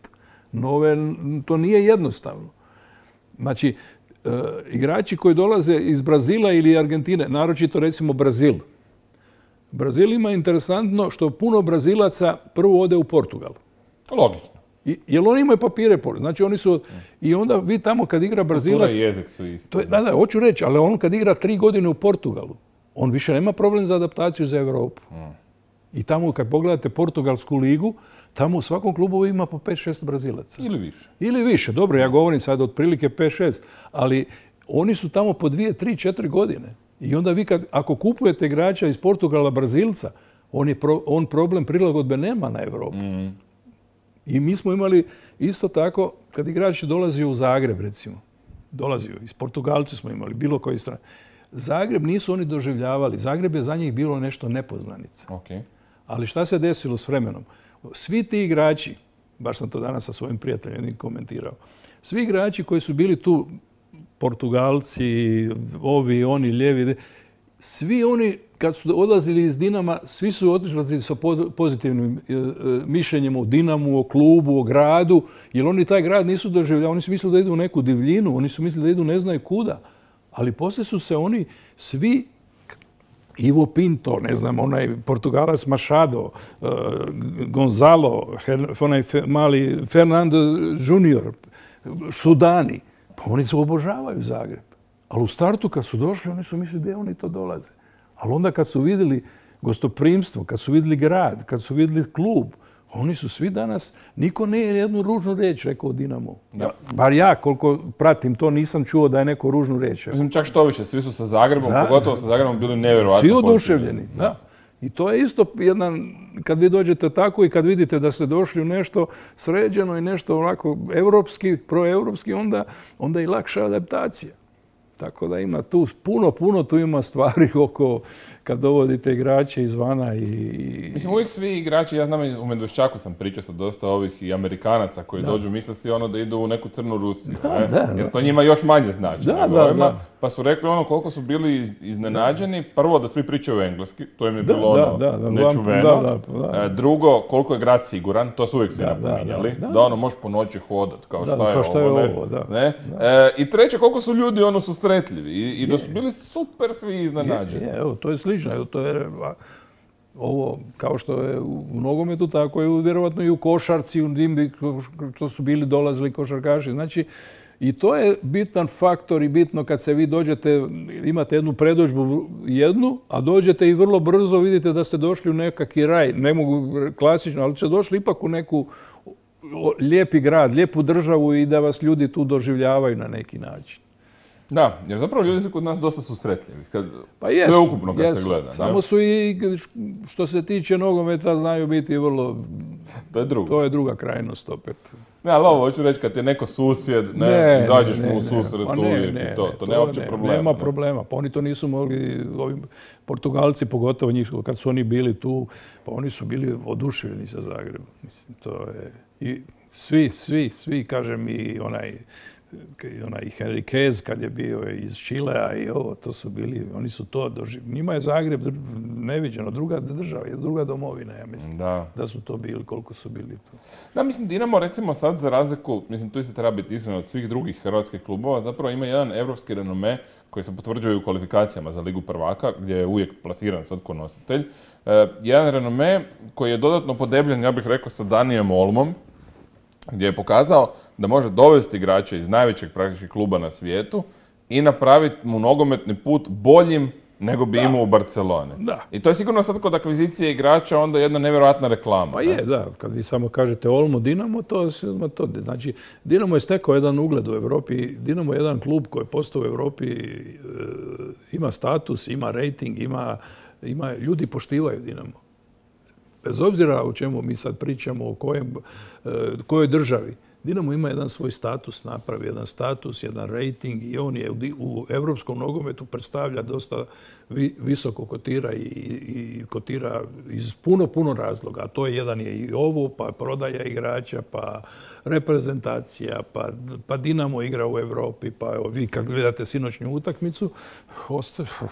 To nije jednostavno. Znači, igrači koji dolaze iz Brazila ili Argentine, naročito recimo Brazil. Brazil ima interesantno što puno Brazilaca prvo ode u Portugal. Logično. Jer oni imaju papire, znači oni su... I onda vi tamo kad igra Brazilac... Kultura i jezik su isto. Da, hoću reći, ali on kad igra 3 godine u Portugalu, on više nema problem za adaptaciju za Europu. I tamo kad pogledate Portugalsku ligu, tamo u svakom klubu ima po 5-6 Brazilaca. Ili više. Ili više, dobro, ja govorim sad otprilike 5-6, ali oni su tamo po 2, 3, 4 godine. I onda vi ako kupujete igrača iz Portugala Brazilca, on problem prilagodbe nema na Europu. I mi smo imali isto tako, kad igrač dolazi u Zagreb, recimo, dolazio, iz Portugalci smo imali, bilo koji strane. Zagreb nisu oni doživljavali. Zagreb je za njih bilo nešto nepoznanica. Ali šta se desilo s vremenom? Svi ti igrači, baš sam to danas sa svojim prijateljem komentirao, svi igrači koji su bili tu, Portugalci, ovi, oni, lijevi, svi oni kad su odlazili iz Dinama, svi su otišli sa pozitivnim mišljenjem o Dinamu, o klubu, o gradu, jer oni taj grad nisu doživljavali, oni su mislili da idu u neku divljinu, oni su mislili da idu ne znaju kuda. Ali poslije su se oni svi, Ivo Pinto, ne znam, onaj Portugalac Machado, Gonzalo, onaj mali Fernando Junior, Sudani, pa oni se obožavaju Zagreb. Ali u startu kad su došli, oni su mislili da oni to dolaze. Ali onda kad su vidjeli gostoprimstvo, kad su vidjeli grad, kad su vidjeli klub, oni su svi danas, niko nije jednu ružnu riječ rekao o Dinamu. Bar ja, koliko pratim to, nisam čuo da je neko ružnu riječ. Mislim, čak što više, svi su sa Zagrebom, pogotovo sa Zagrebom, bili nevjerojatno pozitivni. Svi oduševljeni, da. I to je isto jedan, kad vi dođete tako i kad vidite da ste došli u nešto sređeno i nešto onako evropski, proevropski, onda je i lakša adaptacija. Tako da ima tu puno tu ima stvari oko kad dovodite igrače izvana i... Mislim, uvijek svi igrači, ja znam u Medveščaku sam pričao sa dosta ovih i Amerikanaca koji dođu, misle si da idu u neku crnu Rusiju, jer to njima još manje znači nego ovima. Pa su rekli koliko su bili iznenađeni, prvo da svi pričaju engleski, to im je bilo nečuveno. Drugo, koliko je grad siguran, to su uvijek svi napominjali, da možeš po noći hodat, kao šta je ovo. I treće, koliko su ljudi susretljivi i da su bili super svi iznenađeni. Evo, to je slično. To je ovo, kao što je u nogometu, tako je vjerovatno i u košarci, u dimbi, što su bili dolazili košarkaši. Znači, i to je bitan faktor i bitno kad se vi dođete, imate jednu predodžbu a dođete i vrlo brzo vidite da ste došli u nekakvi raj. Ne mogu klasično, ali ste došli ipak u neku lijepi grad, lijepu državu i da vas ljudi tu doživljavaju na neki način. Da, jer zapravo ljudi su kod nas dosta susretljivi, sve ukupno kad se gleda. Samo su i, što se tiče nogometa, znaju biti vrlo... To je druga krajnost opet. Ne, ali ovo hoću reći, kad je neko susjed, izađeš mu u susret uvijek i to nema uopće problema. Nema problema, pa oni to nisu mogli, ovi Portugalci, pogotovo njih, kad su oni bili tu, pa oni su bili oduševljeni sa Zagrebom. Mislim, to je... I svi, kažem, i onaj Henriquez kad je bio iz Čilea i ovo, to su bili, oni su to doživjeli. Njima je Zagreb neviđeno, druga država, druga domovina, ja mislim, da su to bili, koliko su bili tu. Da, mislim, Dinamo recimo sad za razliku, mislim, tu se treba biti iskren od svih drugih hrvatskih klubova, zapravo ima jedan evropski renome koji se potvrđuje u kvalifikacijama za Ligu prvaka, gdje je uvijek plasiran sad ko nositelj. Jedan renome koji je dodatno podebljen, ja bih rekao, sa Danijem Olmom, gdje je pokazao da može dovesti igrače iz najvećeg praktički kluba na svijetu i napraviti mu nogometni put boljim nego bi imao u Barceloni. I to je sigurno sad kod akvizicije igrača onda jedna nevjerojatna reklama. Pa je, da. Kad vi samo kažete Olmo, Dinamo, to. Znači, Dinamo je stekao jedan ugled u Europi. Dinamo je jedan klub koji je postao u Europi, ima status, ima rating, ljudi poštivaju Dinamo. Bez obzira o čemu mi sad pričamo, o kojoj državi. Dinamo ima jedan svoj status, napravi jedan status, jedan rating i on je u evropskom nogometu predstavlja dosta visoko kotira i kotira iz puno razloga. A to je jedan je i ovo, pa prodaja igrača, pa reprezentacija, pa Dinamo igra u Europi, pa evo, vi kad gledate sinoćnju utakmicu,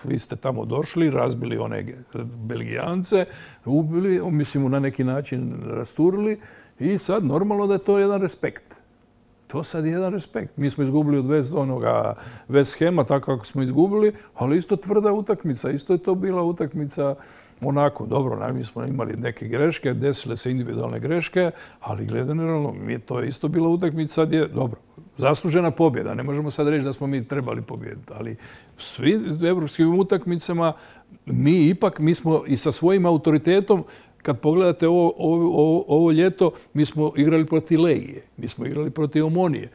vi ste tamo došli, razbili one Belgijance, ubili, mislim na neki način rasturili i sad normalno da je to jedan respekt. To sad je jedan respekt. Mi smo izgubili od West Hama, tako kako smo izgubili, ali isto tvrda utakmica. Isto je to bila utakmica onako, dobro, mi smo imali neke greške, desile se individualne greške, ali generalno to je isto bila utakmica, sad je, dobro, zaslužena pobjeda. Ne možemo sad reći da smo mi trebali pobjediti, ali svi evropskim utakmicama mi smo i sa svojim autoritetom. Kad pogledate ovo ljeto, mi smo igrali protiv Legije, mi smo igrali protiv Omonije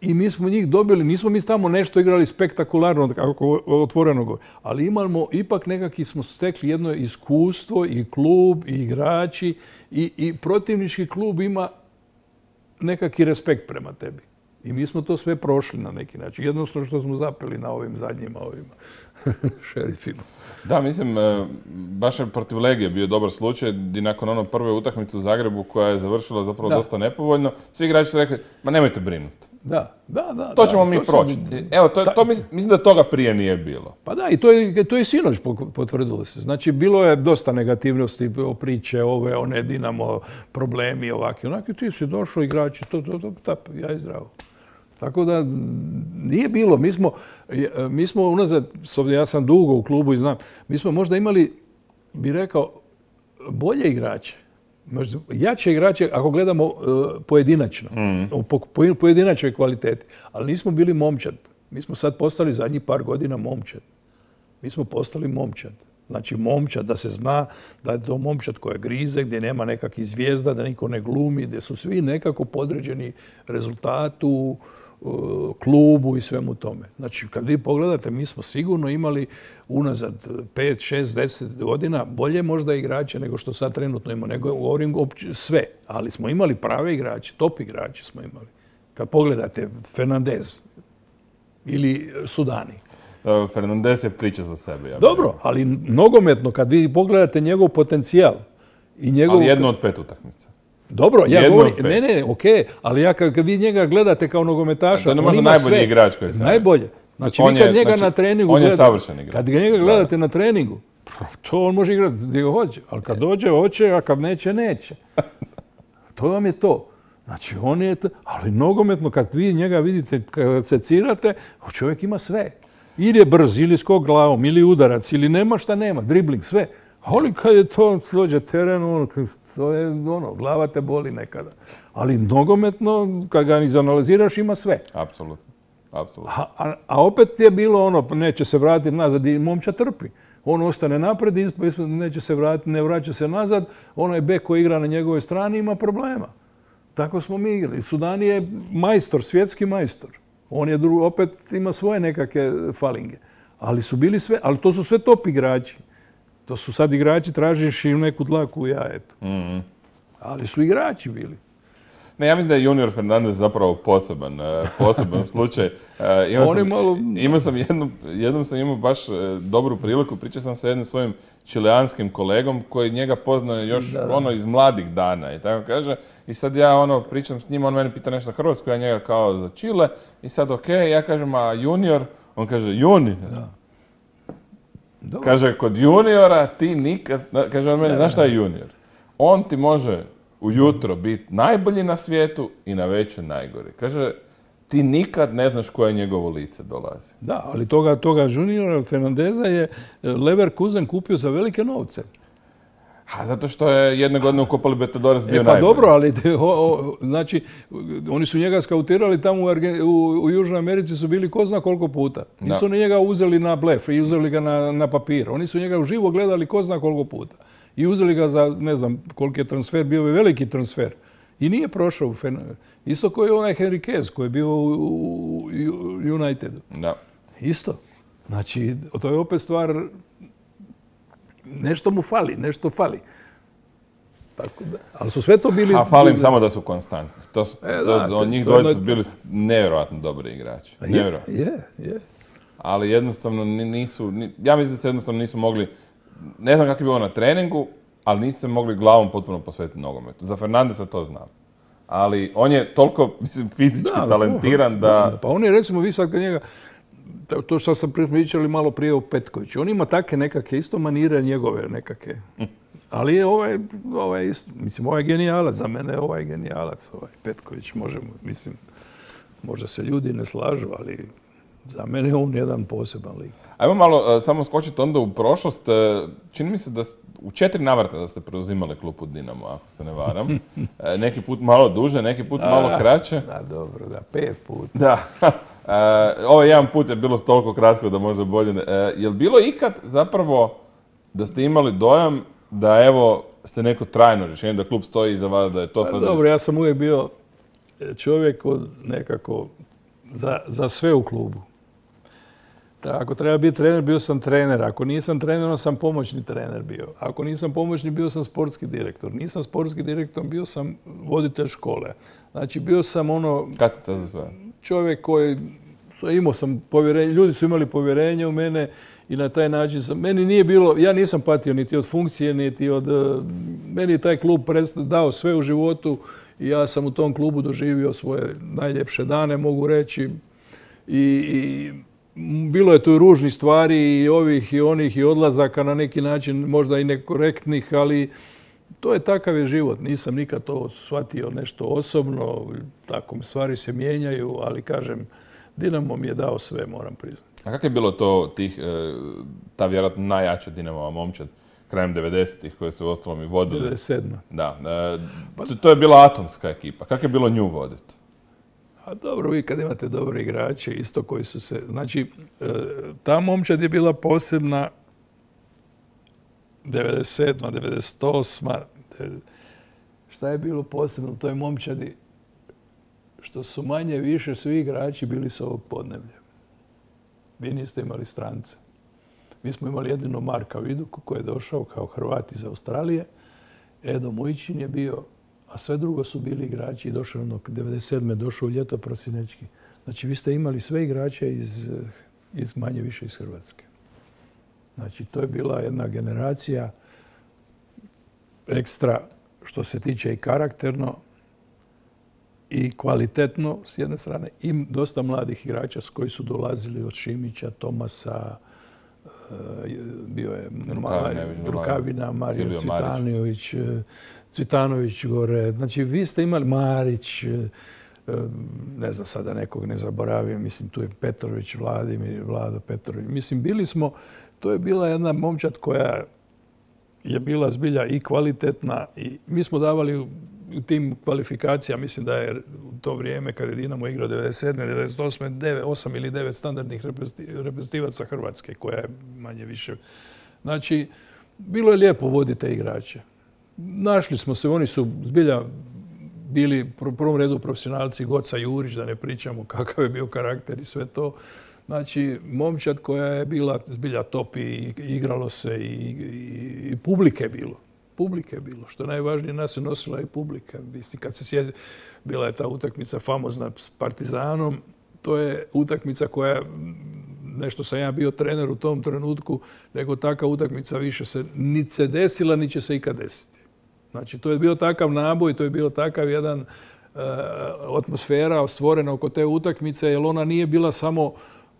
i mi smo njih dobili, nismo mi tamo nešto igrali spektakularno, kako otvoreno, ali imamo, ipak nekakvi smo stekli jedno iskustvo i klub i igrači i protivnički klub ima nekakvi respekt prema tebi. I mi smo to sve prošli na neki način. Jednostavno što smo zapeli na ovim zadnjima šerifima. Da, mislim, baš je protiv Legije bio dobar slučaj gdje nakon prve utakmice u Zagrebu koja je završila zapravo dosta nepovoljno, svi igrači su rekli, ma nemojte brinuti. Da. To ćemo mi proći. Evo, mislim da toga prije nije bilo. Pa da, i to je sinoć potvrdilo se. Znači, bilo je dosta negativnosti, priče, one Dinamo, problemi, ovaki, onaki, ti si došao, igrači, ja i zdravo. Tako da nije bilo. Mi smo unazad, ja sam dugo u klubu i znam, mi smo možda imali, bi rekao, bolje igrače. Možda jače igrače ako gledamo pojedinačno, po pojedinačnoj kvaliteti. Ali nismo bili momčad. Mi smo sad postali zadnjih par godina momčad. Mi smo postali momčad. Znači momčad, da se zna da je to momčad koja grize, gdje nema nekakvih zvijezda, da niko ne glumi, gdje su svi nekako podređeni rezultatu, klubu i svemu tome. Znači, kad vi pogledate, mi smo sigurno imali unazad 5, 6, 10 godina bolje možda igrače nego što sad trenutno imamo. Nego govorim sve, ali smo imali prave igrače, top igrače smo imali. Kad pogledate Fernandez ili Sudani. Fernandez je priča za sebe. Dobro, ali nogometno, kad vi pogledate njegov potencijal i njegov... Ali jedno od 5 utakmica. Dobro, ja govorim, ne, okej, ali ja kad vi njega gledate kao nogometaša, to je možda najbolji igrač koji se... Najbolje. Znači, vi kad njega na treningu on je savršen igrač. Kad njega gledate na treningu, to on može igrati gdje hoće, ali kad dođe, hoće, a kad neće, neće. To vam je to. Znači, on je to, ali nogometno, kad vi njega vidite, kad secirate, čovjek ima sve. Ili je brz, ili skok glavom, ili udarac, ili nema šta nema, dribling, sve. Ali kad je to dođe teren, to je glava te boli nekada. Ali nogometno, kad ga izanaliziraš, ima sve. Apsolutno. A opet je bilo neće se vratiti nazad i momča trpi. On ostane napred, neće se vratiti, ne vraća se nazad. Onaj bek koji igra na njegovoj strani ima problema. Tako smo mi igrali. Sudani je majstor, svjetski majstor. On je opet ima svoje nekakve falinge. Ali su bili sve, ali to su sve top igrači. To su sad igrači, tražiš im neku dlaku u jajetu. Ali su igrači bili. Ne, ja mislim da je Junior Fernandez zapravo poseban slučaj. Jednom sam imao baš dobru priliku, pričao sam sa jednim svojim čileanskim kolegom koji njega poznaje još iz mladih dana i tako kaže. I sad ja pričam s njim, on meni pita nešto hrvatsko, ja njega kao za Čile i sad ja kažem, a Junior? On kaže, Juni. Kaže, kod juniora ti nikad, kaže on meni, znaš šta je junior? On ti može ujutro biti najbolji na svijetu i na večer najgori. Kaže, ti nikad ne znaš koje njegovo lice dolazi. Da, ali toga juniora Fernandeza je Leverkusen kupio za velike novce. Zato što je jedne godine u Copa Libertadores bio najbolji. Pa dobro, ali znači, oni su njega skautirali tamo u Južnoj Americi, su bili ko zna koliko puta. Nisu ni njega uzeli na blef i uzeli ga na papir. Oni su njega uživo gledali ko zna koliko puta. I uzeli ga za, ne znam koliki je transfer, bio je veliki transfer. I nije prošao. Isto koji je onaj Henriquez koji je bio u Unitedu. Da. Isto. Znači, to je opet stvar... Nešto mu fali, nešto fali. Tako da. Ali su sve to bili... A falim samo da su konstantni. Njih dvojica su bili nevjerojatno dobri igrači. Je. Ali jednostavno nisu... Ja mislim da se jednostavno nisu mogli... Ne znam kako je bilo na treningu, ali nisu se mogli glavom potpuno posvetiti nogometu. Za Fernandesa to znam. Ali on je toliko, mislim, fizički talentiran da... Pa on je, recimo, vi sad kad njega... To što sam pričali malo prije o Petkoviću. On ima takve nekakve isto manire njegove nekakve. Ali je ovaj isto, mislim, ovaj je genijalac. Za mene je ovaj genijalac, ovaj Petković. Mislim, možda se ljudi ne slažu, ali za mene je on jedan poseban lik. Ajmo malo samo skočiti onda u prošlost. Čini mi se da u 4 navrata da ste preuzimali klupu Dinamo, ako se ne varam. Neki put malo duže, neki put malo kraće. Da, dobro, 5 puta. Da. Ovaj jedan put je bilo toliko kratko da možda bolje ne. Je li bilo ikad zapravo da ste imali dojam da evo ste neko trajno rješenje, da klub stoji iza vas, da je to sad... Dobro, ja sam uvijek bio čovjek nekako za sve u klubu. Ako treba biti trener, bio sam trener. Ako nisam trener, onda sam pomoćni trener bio. Ako nisam pomoćni, bio sam sportski direktor. Nisam sportski direktor, bio sam voditelj škole. Znači, bio sam Katica za sve. Čovjek koji... Imao sam povjerenje, ljudi su imali povjerenje u mene i na taj način meni nije bilo... Ja nisam patio niti od funkcije, niti od... Meni je taj klub dao sve u životu i ja sam u tom klubu doživio svoje najljepše dane, mogu reći. I bilo je tu ružnih stvari i ovih i onih i odlazaka na neki način, možda i nekorektnih, ali to je takav je život. Nisam nikad to shvatio nešto osobno, tako stvari se mijenjaju, ali kažem, Dinamo mi je dao sve, moram priznati. A kako je bilo to ta vjerojatno najjača Dinamova momčad krajem 90-ih koje ste uostalom i vodili? 97. Da. To je bila atomska ekipa. Kako je bilo nju voditi? A dobro, vi kad imate dobre igrače, isto koji su se... Znači, ta momčad je bila posebna 97. 98. Šta je bilo posebno u toj momčadi? Što su manje više svi igrači bili s ovog podneblja. Vi niste imali strance. Mi smo imali jedino Marka Viduku koji je došao kao Hrvat iz Australije. Edo Mujićin je bio, a sve drugo su bili igrači i došao 97. došao u ljeto prosinečki. Znači, vi ste imali sve igrače iz manje više iz Hrvatske. Znači, to je bila jedna generacija ekstra što se tiče i karakterno i kvalitetno s jedne strane i dosta mladih igrača s koji su dolazili od Šimića, Tomasa, bio je Rukavina, Mario Cvitanović gore. Znači, vi ste imali Marić, ne znam sada nekog ne zaboravim, mislim tu je Petrović, Vlado Petrović. Mislim, bili smo, to je bila jedna momčad koja je bila zbilja i kvalitetna i mi smo davali u tim kvalifikacijama, mislim da je u to vrijeme kad je Dinamo igrao 97. 98. 8 ili 9 standardnih reprezentativaca Hrvatske, koja je manje više. Znači, bilo je lijepo voditi te igrače. Našli smo se, oni su zbilja bili u prvom redu profesionalci, Goca Jurić, da ne pričamo kakav je bio karakter i sve to. Znači, momčad koja je bila zbilja top i igralo se i publike je bilo. Publike je bilo. Što najvažnije, nas je nosila i publika. Mislim, kad se sjedi, bila je ta utakmica famozna s Partizanom. To je utakmica koja, nešto sam ja bio trener u tom trenutku, nego taka utakmica više se niti se desila, niti će se ikad desiti. Znači, to je bio takav naboj, to je bio takav jedan atmosfera stvorena oko te utakmice, jer ona nije bila samo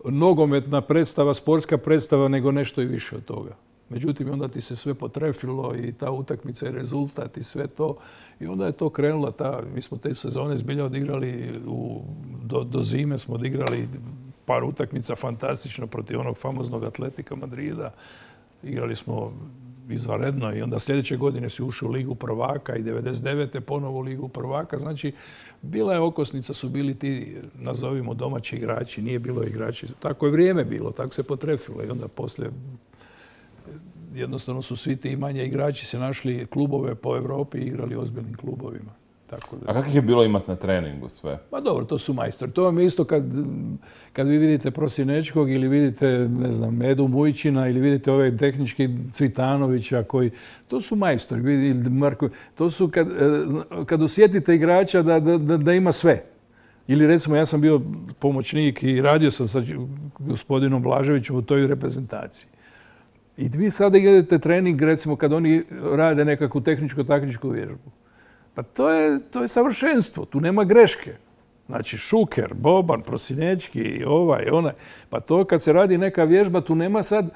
nogometna predstava, sportska predstava, nego nešto i više od toga. Međutim, onda ti se sve potrefilo i ta utakmica i rezultat i sve to. I onda je to krenulo. Mi smo te sezone zbilja odigrali, do zime smo odigrali par utakmica fantastično protiv onog famoznog Atletika Madrida. Igrali smo izvanredno i onda sljedeće godine si ušao u Ligu prvaka i 99. ponovo u Ligu prvaka. Znači, bila je okosnica, su bili ti, nazovimo, domaći igrači, nije bilo igrači. Tako je vrijeme bilo, tako se potrefilo i onda poslije jednostavno su svi ti manje igrači se našli klubove po Europi i igrali ozbiljnim klubovima. A kako je bilo imati na treningu sve? Pa dobro, to su majstori. To vam je isto kad vi vidite Prosinečkog ili vidite, ne znam, Edu Mujićina ili vidite ove tehnički Cvitanovića koji, to su majstori. To su kad osjetite igrača da ima sve. Ili recimo ja sam bio pomoćnik i radio sam sa gospodinom Blaževićem u toj reprezentaciji. I vi sada idete trening, recimo kad oni rade nekakvu tehničko-taktičku vježbu. Pa to je savršenstvo, tu nema greške. Znači Šuker, Boban, Prosinečki, ovaj, onaj. Pa to kad se radi neka vježba, tu nema sad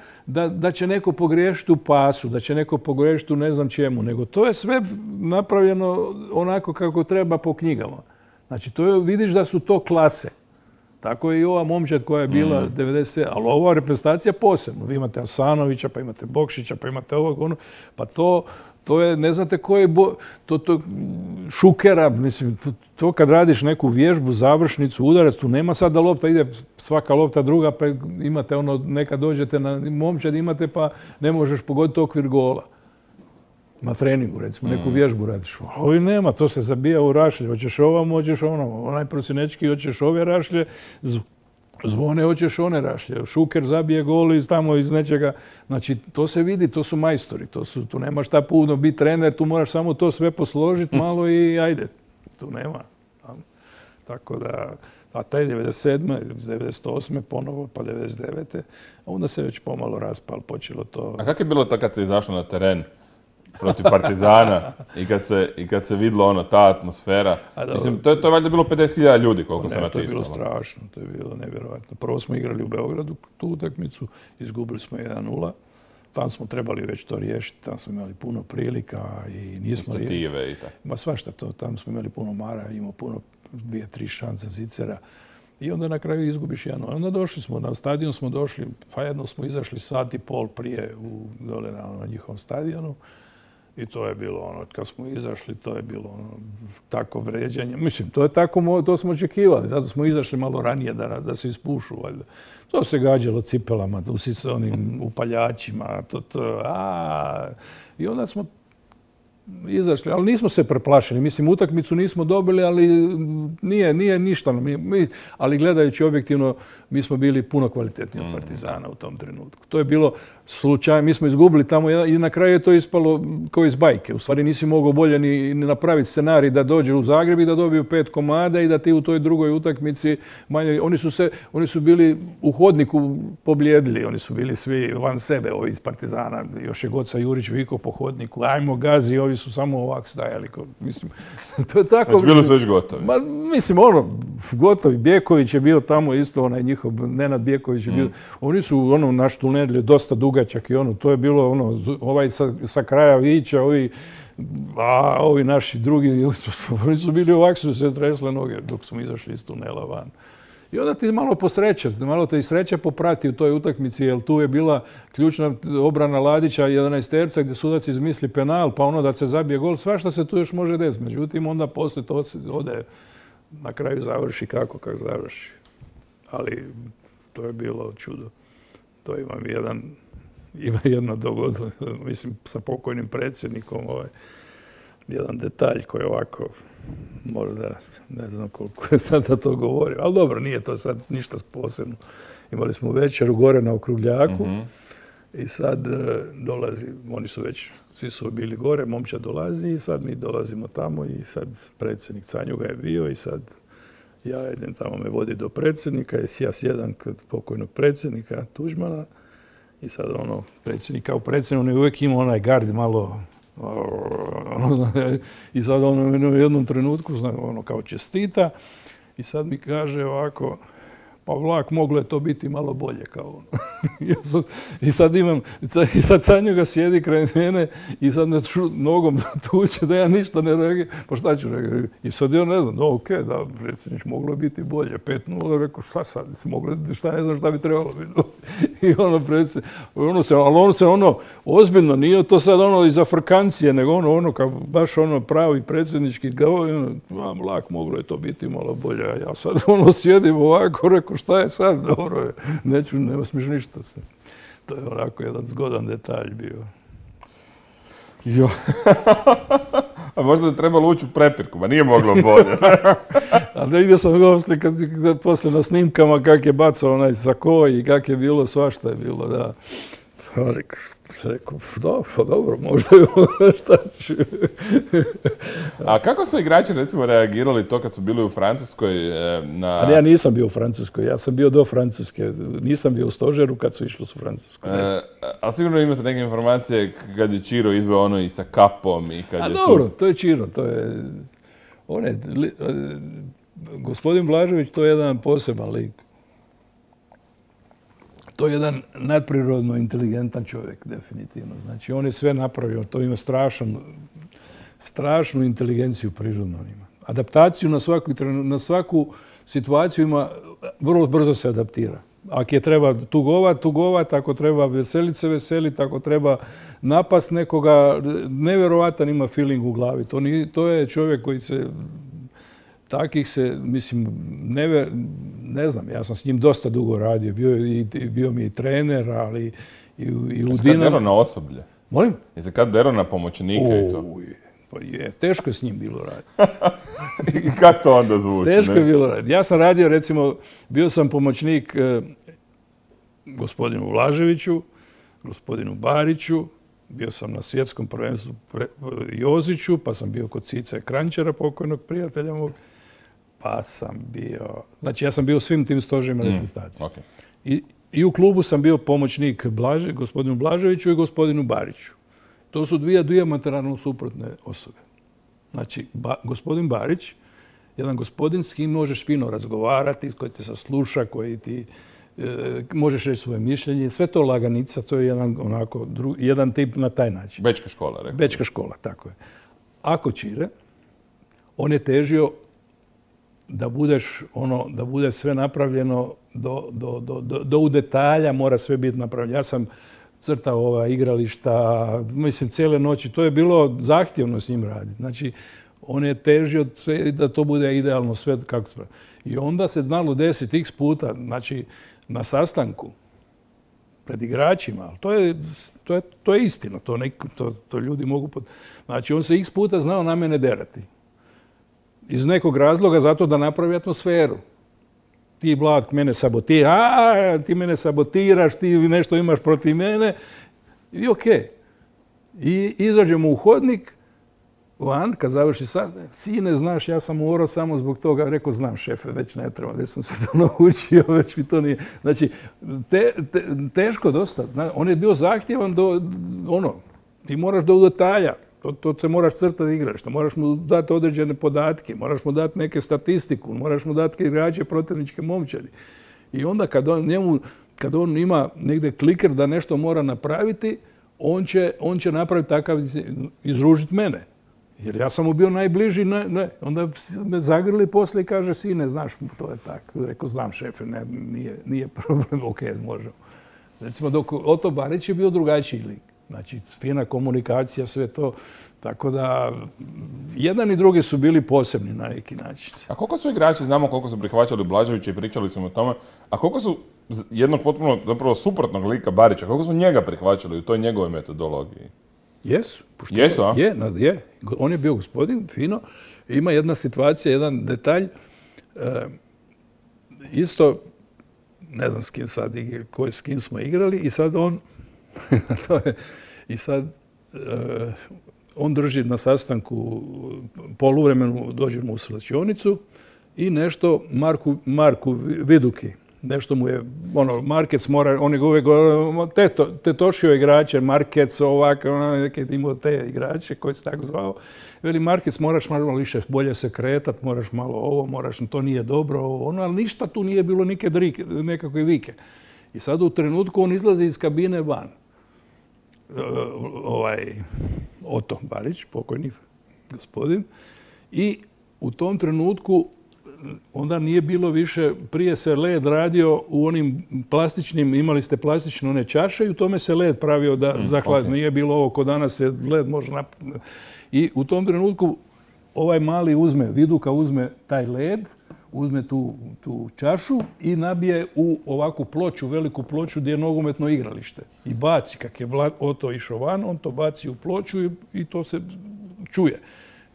da će neko pogriješiti u pasu, da će neko pogriješiti u ne znam čemu, nego to je sve napravljeno onako kako treba po knjigama. Znači vidiš da su to klase. Tako je i ova momčad koja je bila 90, ali ova reprezentacija posebno. Vi imate Asanovića, pa imate Bokšića, pa imate ovog, ono, pa to je, ne znate ko je, Šukera, mislim, to kad radiš neku vježbu, završnicu, udarac, tu nema sad da lopta ide svaka lopta druga, pa imate ono, nekad dođete na momčad, imate pa ne možeš pogoditi okvir gola. Na treningu, recimo, neku vježbu radiš. Ovi nema, to se zabija u rašlje. Hoćeš ovamo, hoćeš ono. Onaj Prosinečki, hoćeš ove rašlje, Zvone, hoćeš one rašlje. Šuker zabije gol iz nečega. Znači, to se vidi, to su majstori. Tu nema šta puno biti trener, tu moraš samo to sve posložiti malo i ajde. Tu nema. Tako da, a taj 97. 98. ponovo, pa 99. Onda se već pomalo raspal, počelo to. A kako je bilo to kad si izašao na teren protiv Partizana i kad se vidjelo ono, ta atmosfera? Mislim, to je valjda bilo 50.000 ljudi koliko se natiskalo. To je bilo strašno, to je bilo nevjerojatno. Prvo smo igrali u Beogradu tu utakmicu, izgubili smo 1:0. Tam smo trebali već to riješiti, tam smo imali puno prilika i nismo... Stative i tako. Ma svašta to, tam smo imali puno mara, imao puno 2-3 šanse Zicera. I onda na kraju izgubiš 1:0. Onda došli smo, na stadion smo došli, pa jedno smo izašli sat i pol prije dole na njihovom stadionu. I to je bilo ono, kad smo izašli, to je bilo ono, tako vređanje. Mislim, to je tako, to smo očekivali, zato smo izašli malo ranije da se ispušu, valjda. To se gađalo cipelama, s onim upaljačima, i onda smo izašli, ali nismo se preplašili. Mislim, utakmicu nismo dobili, ali nije ništa. Ali gledajući objektivno, mi smo bili puno kvalitetniji od Partizana u tom trenutku. To je bilo slučaj, mi smo izgubili tamo i na kraju je to ispalo kao iz bajke. U stvari nisi mogao bolje ni napraviti scenarij da dođe u Zagreb i da dobiju 5 komada i da ti u toj drugoj utakmici manje... Oni su bili u hodniku poblijedili, oni su bili svi van sebe, ovi iz Partizana. Još je Goca Jurić vikao po hodniku, ajmo gazi, ovi su samo ovako stajali. Mislim, to je tako... Znači, bili su već gotovi. Mislim, gotovi. Bjeković je bio tamo isto, onaj njihov, Nenad Bjeković je bio. Oni su, naš tunel je dosta dugačak i to je bilo, ovaj sa kraja Vića, ovi naši drugi, oni su bili ovako, su se tresle noge dok smo izašli iz tunela van. I onda ti malo posreće, malo te i sreća poprati u toj utakmici, jer tu je bila ključna obrana Ladića 11-terca gdje sudac izmisli penal, pa da se zabije gol, svašta se tu još može desiti. Međutim, onda poslije to ode, na kraju završi kako završi. Ali to je bilo čudo. To ima jedno dogodilo, mislim, sa pokojnim predsjednikom, jedan detalj koji ovako, možda, ne znam koliko je sada to govorio, ali dobro, nije to sad ništa posebno. Imali smo večeru gore na Okrugljaku i sad dolazi, oni su već, svi su bili gore, momčad dolazi i sad mi dolazimo tamo i sad predsjednik Canjuga je bio i sad ja idem tamo, me vodi do predsjednika i ja sjedam kod pokojnog predsjednika Tuđmana i sad predsjednik kao predsjednik, on je uvijek imao onaj gard malo i sad u jednom trenutku kao čestita i sad mi kaže ovako, pa vlak, moglo je to biti malo bolje kao I sad Canjuga sjedi kraj mene i sad me nogom tuče da ja ništa ne reagiram. Pa šta ću reagirati? I sad ja ne znam, da, predsjednič, moglo je biti bolje. 5:0, rekao, šta sad? Šta ne znam šta bi trebalo biti. I ali se ozbiljno, nije to sad iz Afrikancije, nego kao baš pravi predsjednički govor, vlak, moglo je to biti malo bolje. A ja sad sjedim ovako, rekao, šta je sad, dobro je, nema smiješ ništa se. To je onako jedan zgodan detalj bio. Jo. A možda je trebalo ući u prepirku, ma nije moglo bolje. A da vidio sam ga poslije na snimkama kak je bacao onaj sako i kak je bilo, svašta je bilo, da. Rekao, dobro, možda je šta ću. A kako su igrači, recimo, reagirali to kad su bili u Francuskoj? Ali ja nisam bio u Francuskoj, ja sam bio do Francuske. Nisam bio u stožeru kad su išli u Francusku. Ali sigurno imate neke informacije kad je Čiro izveo ono i sa kapom i kad je dobro, to je Čiro, to je... Gospodin Blažević, to je jedan poseban lik. To je jedan nadprirodno inteligentan čovjek, definitivno. Znači, on je sve napravio, to ima strašnu inteligenciju prirodno ima. Adaptaciju na svaku situaciju ima, vrlo brzo se adaptira. Ako je treba tugovat, ako treba veselit se, ako treba napast nekoga, nevjerovatan ima feeling u glavi. To je čovjek koji se... Takih se, mislim, ne znam, ja sam s njim dosta dugo radio, bio mi i trener, ali i u Dinamo. Jesi kad dero na osoblje? Molim? Jesi kad dero na pomoćnike i to? Pa je, teško je s njim bilo raditi. I kako to onda zvuči? Teško je bilo raditi. Ja sam radio, recimo, bio sam pomoćnik gospodinu Blaževiću, gospodinu Bariću, bio sam na svjetskom prvenstvu Joziću, pa sam bio kod Cice Kranjčara, pokojnog prijatelja mog, pa sam bio... Znači, ja sam bio u svim tim stožima reprezentacije. Okay. I u klubu sam bio pomoćnik gospodinu Blaževiću i gospodinu Bariću. To su dvije dijametralno suprotne osobe. Znači, gospodin Barić, jedan gospodin s kim možeš fino razgovarati, koji te sasluša, koji ti... možeš reći svoje mišljenje, sve to laganica, to je jedan tip na taj način. Bečka škola, rekao. Bečka škola, tako je. Ako Čire, on je težio da bude sve napravljeno do u detalja, mora sve biti napravljeno. Ja sam crtao igrališta, mislim, cijele noći. To je bilo zahtjevno s njim raditi. Znači, on je težio da to bude idealno sve kako se pravi. I onda se znalo desiti x puta, znači, na sastanku pred igračima, ali to je istina, to ljudi mogu... Znači, on se x puta znao na mene derati. Iz nekog razloga zato da napravi atmosferu. Ti, Vlad, mene sabotiraš, ti mene sabotiraš, ti nešto imaš protiv mene i okej. I izađemo u hodnik, van, kad završi sastanak, sine, znaš, ja sam morao samo zbog toga, rekao, znam, šefe, već ne treba, već sam se to naučio, već mi to nije. Znači, teško dosta. On je bio zahtjevan ti moraš do detalja, to se moraš crtati igrališta, moraš mu dati određene podatke, moraš mu dati neke statistiku, moraš mu dati igrače protivničke momčadi. I onda kad on ima negdje kliker da nešto mora napraviti, on će napraviti takav, izružiti mene. Jer ja sam mu bio najbliži, onda me zagrli poslije i kaže, sine, znaš, to je tako. Rekao, znam, šefe, nije problem, okej, možemo. Recimo, dok Oto Barić je bio drugačiji lik. Znači, fina komunikacija, sve to. Tako da, jedan i drugi su bili posebni na neki način. A koliko su igrači, znamo koliko su prihvaćali Blaževića i pričali smo o tome, a koliko su jednog potpuno, zapravo suprotnog lika Barića, koliko su njega prihvaćali u toj njegove metodologiji? Jesu. Jesu, a? Je. On je bio gospodin, fino. Ima jedna situacija, jedan detalj. Isto, ne znam s kim smo igrali i sad on... on drži na sastanku poluvremenu, dođemo u slačionicu i nešto Marku Viduki. Nešto mu je, Markec mora, on je uvijek tetošio igrače, Markec ovak, neke imao te igrače koji se tako zvao. Veli, Markec, moraš malo više bolje se kretat, moraš malo ovo, to nije dobro, ali ništa tu nije bilo nekakve vike. I sad u trenutku on izlazi iz kabine van. Oto Barić, pokojni gospodin, i u tom trenutku onda nije bilo više, prije se led radio u onim plastičnim, imali ste plastične one čaše i u tome se led pravio da zahladi. Nije bilo ovo ko danas se led može I u tom trenutku ovaj mali Viduka uzme taj led, uzme tu čašu i nabije u ovakvu ploču, veliku ploču gdje je nogometno igralište. I baci, kak je Oto išao van, on to baci u ploču i to se čuje.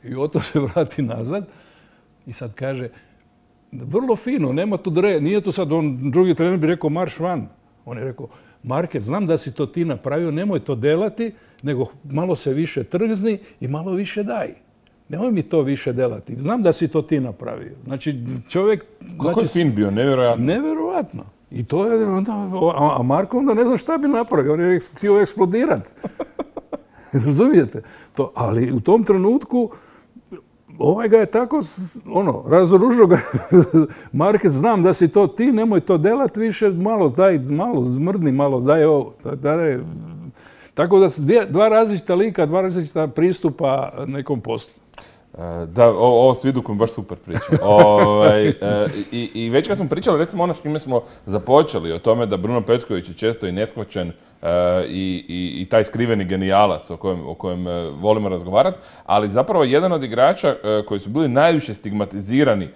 I Oto se vrati nazad i sad kaže, vrlo fino, nema tu nije to sad, drugi trener bi rekao marš van. On je rekao, Marke, znam da si to ti napravio, nemoj to delati, nego malo se više trgzni i malo više daj. Nemoj mi to više delati. Znam da si to ti napravio. Znači, čovjek... Kako je fin bio, nevjerojatno. Nevjerojatno. I to je onda... A Marko onda ne zna šta bi napravio. On je htio eksplodirati. Razumijete? Ali u tom trenutku ovaj ga je tako, razoružio ga. Marke, znam da si to ti, nemoj to delati više, malo daj, malo zmrdni, malo daj ovo. Tako da su dva različita lika, dva različita pristupa nekom poslu. Da, ovo s Vidukom baš super priča. I već kad smo pričali, recimo ono s čime smo započeli, o tome da Bruno Petković je često i neshvaćen i taj skriveni genijalac o kojem volimo razgovarati, ali zapravo jedan od igrača koji su bili najviše stigmatizirani,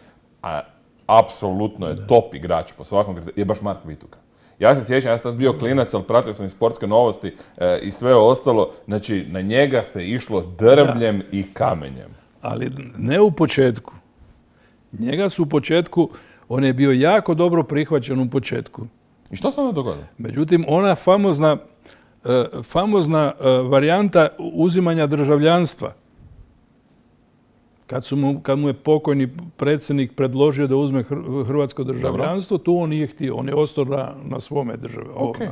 a apsolutno je top igrač po svakom kriteriju, je baš Marko Vituka. Ja se sjećam, ja sam tad bio klinac, ali pratio sam i sportske novosti i sve ostalo. Znači, na njega se išlo drvljem i kamenjem. Ali ne u početku. Njega su u početku, on je bio jako dobro prihvaćen u početku. I što se onda dogodilo? Međutim, ona famozna varijanta uzimanja državljanstva, kad mu je pokojni predsjednik predložio da uzme hrvatsko državljanstvo, tu on nije htio. On je ostao na svome države. Okay.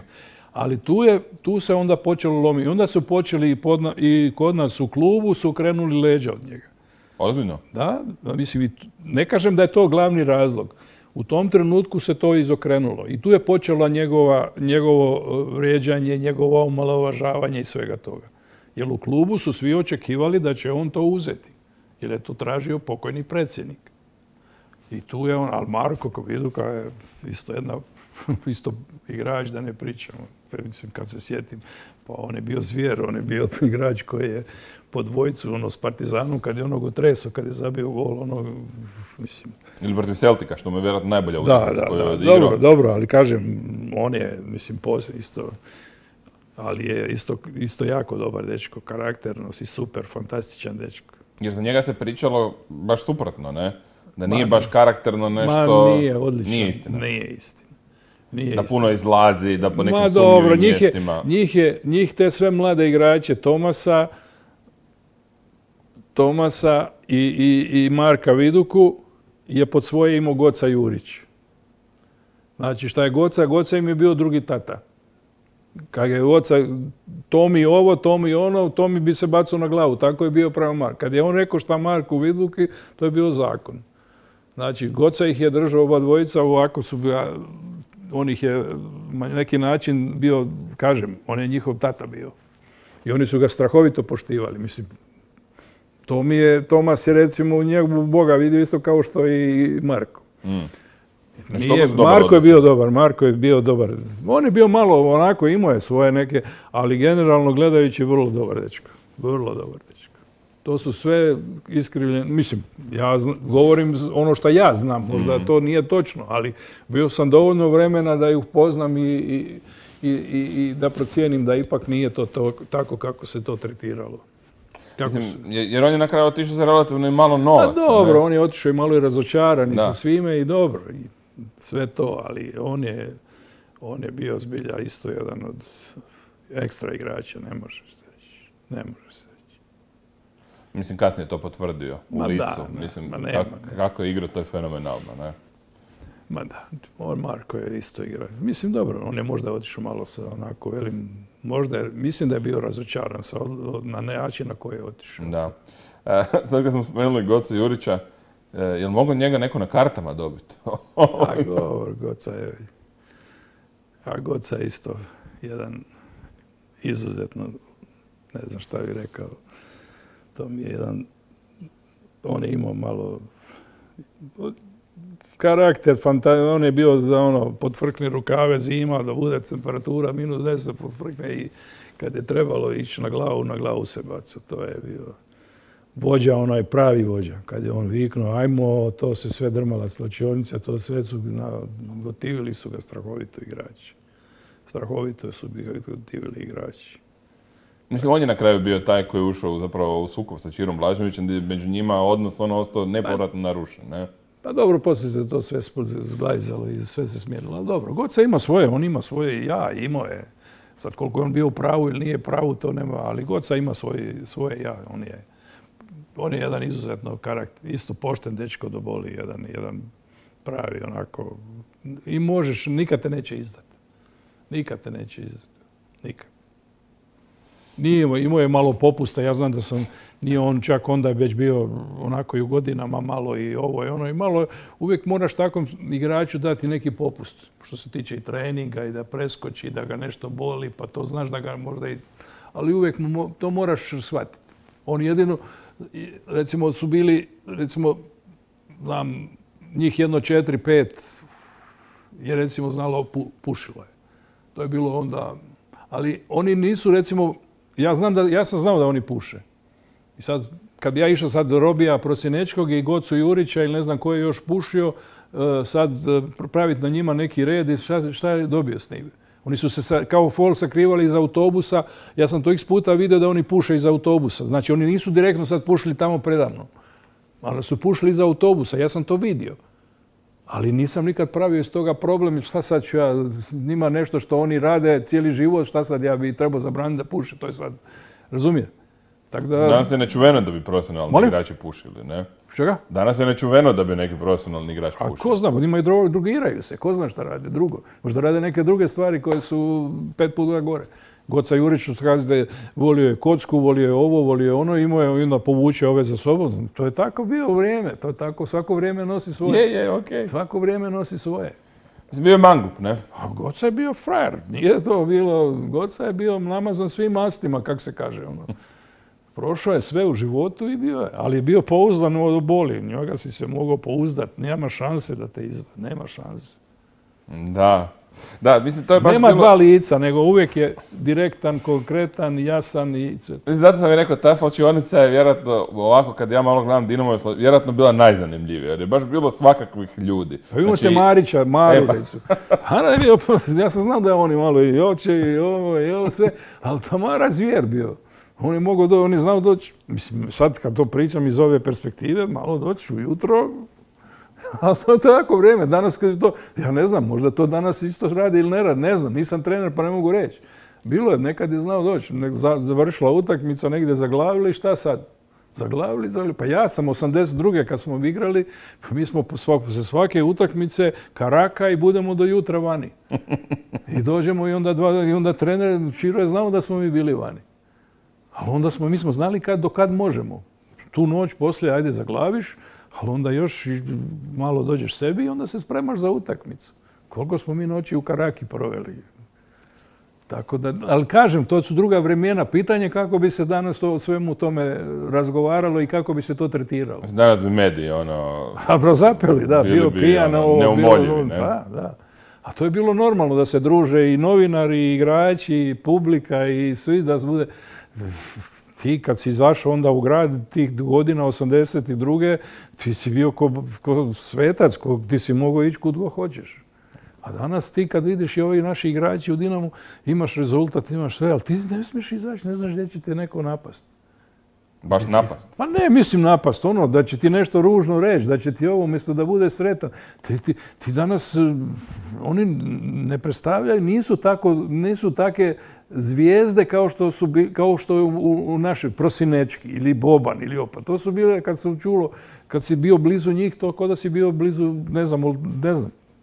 Ali tu se onda počelo lomiti. Onda su počeli i kod nas u klubu su krenuli leđa od njega. Ozbiljno? Da, mislim, ne kažem da je to glavni razlog. U tom trenutku se to izokrenulo. I tu je počelo njegovo vrijeđanje, njegovo omalovažavanje i svega toga. Jer u klubu su svi očekivali da će on to uzeti. Jer je to tražio pokojni predsjednik. I tu je on, ali Marko Viduka je isto igrač, da ne pričamo. Mislim, kad se sjetim, pa on je bio zvijer, on je bio igrač koji je po dvojcu, s Partizanom, kad je onog otresao, kad je zabio gol, mislim... Ili protiv Celtica, što mu je vjerojatno najbolja utakmica koju je odigrao. Dobro, ali kažem, on je, mislim, poslije isto... Ali je isto jako dobar dečko, karakternost i super, fantastičan dečko. Jer za njega se pričalo baš suprotno, ne? Da nije baš karakterno nešto... Nije, odlično. Nije istina. Nije istina. Da puno izlazi, da po nekim sumnjivim mjestima... Njih te sve mlade igrače Tomasa i Marka Viduku je pod svoje imao Goca Jurić. Znači šta je Goca im je bio drugi tata. Kad je oca Tomi ovo, Tomi ono, Tomi bi se bacao na glavu. Tako je bio pravo Mark. Kad je on rekao šta Marku Viduki, to je bio zakon. Znači, Goca ih je držao oba dvojica, ovako su bila, on ih je na neki način bio, kažem, on je njihov tata bio. I oni su ga strahovito poštivali. Mislim, Tomas je recimo u njegu Boga vidio isto kao što i Marko. Marko je bio dobar. On je bio malo onako, imao je svoje neke, ali generalno gledajući vrlo dobar dečko. Vrlo dobar dečko. To su sve iskrivljene, mislim, ja govorim ono što ja znam, možda to nije točno, ali bio sam dovoljno vremena da ih upoznam i da procijenim da ipak nije to tako kako se to tretiralo. Mislim, jer on je na kraju otišao za relativno malo novaca. Dobro, on je otišao i malo i razočaran i sa svime i dobro. I sve to, ali on je bio zbilja isto jedan od ekstra igrača, ne može se reći. Mislim, kasnije to potvrdio u licu. Mislim, kako je igrao, to je fenomenalno, ne? Ma da, Marko je isto igrao. Mislim, dobro, on je možda otišao malo sa onako velim, mislim da je bio razočaran na način na koji je otišao. Da. Sad kad smo spomenuli Gocu Jurića, je li mogao njega neko na kartama dobiti? Dobro, Goca je isto jedan izuzetno, ne znam šta bih rekao, to mi je jedan, on je imao malo karakter, on je bio za potvrkni rukave zima, da bude temperatura -10, potvrkne i kad je trebalo ići na glavu se bacao. To je bio vođa, onaj pravi vođa. Kad je on viknuo, ajmo, to se sve drmala svlačionice, to sve su, gotivili su ga strahovito igrači. Strahovito su ga gotivili igrači. Mislim, on je na kraju bio taj koji je ušao zapravo u sukob sa Čirom Blaževićem, gdje među njima odnos ostao nepovratno narušen, ne? Pa dobro, poslije se to sve zglajzalo i sve se smjerilo. Ali dobro, Goca ima svoje, on ima svoje ja, imao je. Sad koliko je on bio u pravu ili nije pravu, to nema, ali Goca ima svoje ja. On je jedan izuzetno karakter, isto pošten dečko do boli, jedan pravi onako. I možeš, nikad te neće izdati. Nikad te neće izdati. Nikad. Imao je malo popusta, ja znam da nije on čak onda već bio onako i u godinama malo i ovo i ono i malo. Uvijek moraš takvom igraču dati neki popust, što se tiče i treninga i da preskoči, da ga nešto boli, pa to znaš da ga možda i... Ali uvijek to moraš shvatiti. On jedino, recimo su bili, znam, njih 4-5 je recimo znalo pušilo je. To je bilo onda, ali oni nisu recimo, ja sam znao da oni puše. I sad, kad bi ja išao sad do Robija Prosjenečkog i Gocu Jurića ili ne znam ko je još pušio, sad praviti na njima neki red i šta je dobio s njim. Oni su se kao fol sakrivali iz autobusa. Ja sam to x puta vidio da oni puše iz autobusa. Znači, oni nisu direktno sad pušili tamo predavno. Ali su pušili iz autobusa. Ja sam to vidio. Ali nisam nikad pravio iz toga problem. Šta sad ću ja, njima nešto što oni rade cijeli život, šta sad ja bi trebao zabraniti da puše. To je sad, razumije? Danas je nečuveno da bi profesionalni igrači pušili, ne? Čega? Danas je nečuveno da bi neki profesionalni igrač pušio. A ko zna, njima i drogiraju se. Ko zna šta rade drugo. Možda rade neke druge stvari koje su 5 puta gore. Goca Jurić, što kaže da je volio je kocku, volio je ovo, volio je ono, imao je onda povuče ove za sobom. To je tako bio vrijeme. To je tako, svako vrijeme nosi svoje. okej. Svako vrijeme nosi svoje. Bio je mangup, ne? A Goca je bio frajer. Nije to bilo, Goca je bio namazan svim mastima, kak se kaže ono. Prošao je sve u životu i bio je, ali je bio pouzdan od boli. Njega si se mogao pouzdati. Nema šanse da te izda. Nema šanse. Da, mislim, to je baš Nema dva lica, nego uvijek je direktan, konkretan, jasan i... Mislim, zato sam i rekao, ta svlačionica je vjerojatno, ovako kad ja malo gledam Dinamo, je vjerojatno bila najzanimljivija, jer je baš bilo svakakvih ljudi. Pa imamo ste Marića, Maru, ja sam znao da oni malo i oče i ovo sve, ali Tamara zvijer bio. On je znao doći, mislim, sad kad to pričam iz ove perspektive, malo doći ujutro, ali to je tako vrijeme. Danas kad je to, ja ne znam, možda to danas isto radi ili ne radi, ne znam, nisam trener pa ne mogu reći. Bilo je, nekad je znao doći, završila utakmica, negdje zaglavili, šta sad? Zaglavili, pa ja sam 82. kad smo igrali, mi smo se svake utakmice karaka i budemo do jutra vani. I dođemo i onda trener Čiro je znao da smo mi bili vani. Ali onda mi smo znali do kad možemo. Tu noć poslije, ajde zaglaviš, ali onda još malo dođeš sebi i onda se spremaš za utakmicu. Koliko smo mi noći u Karaki proveli. Tako da, ali kažem, to su druga vremena. Pitanje kako bi se danas o svemu tome razgovaralo i kako bi se to tretiralo. Danas bi mediji, zapeli, da, bio pijan. Neumoljivi, ne? Da. A to je bilo normalno da se druže i novinari, i igrači, i publika, i svi da se bude... Ti kad si izašao onda u grad tih godina 82. ti si bio ko svetac, ti si mogao ići kud god hoćeš. A danas ti kad vidiš i ovi naši igrači u Dinamu, imaš rezultat, imaš sve, ali ti ne smiješ izaći, ne znaš gdje će te neko napast. Baš napast? Pa ne, mislim napast, da će ti nešto ružno reći, da će ti ovo umjesto da bude sretan. Ti danas, oni ne predstavljaju, nisu take zvijezde kao što je u našoj Prosinečki ili Boban ili Opa. To su bile, kad si bio blizu njih, to kao da si bio blizu, ne znam,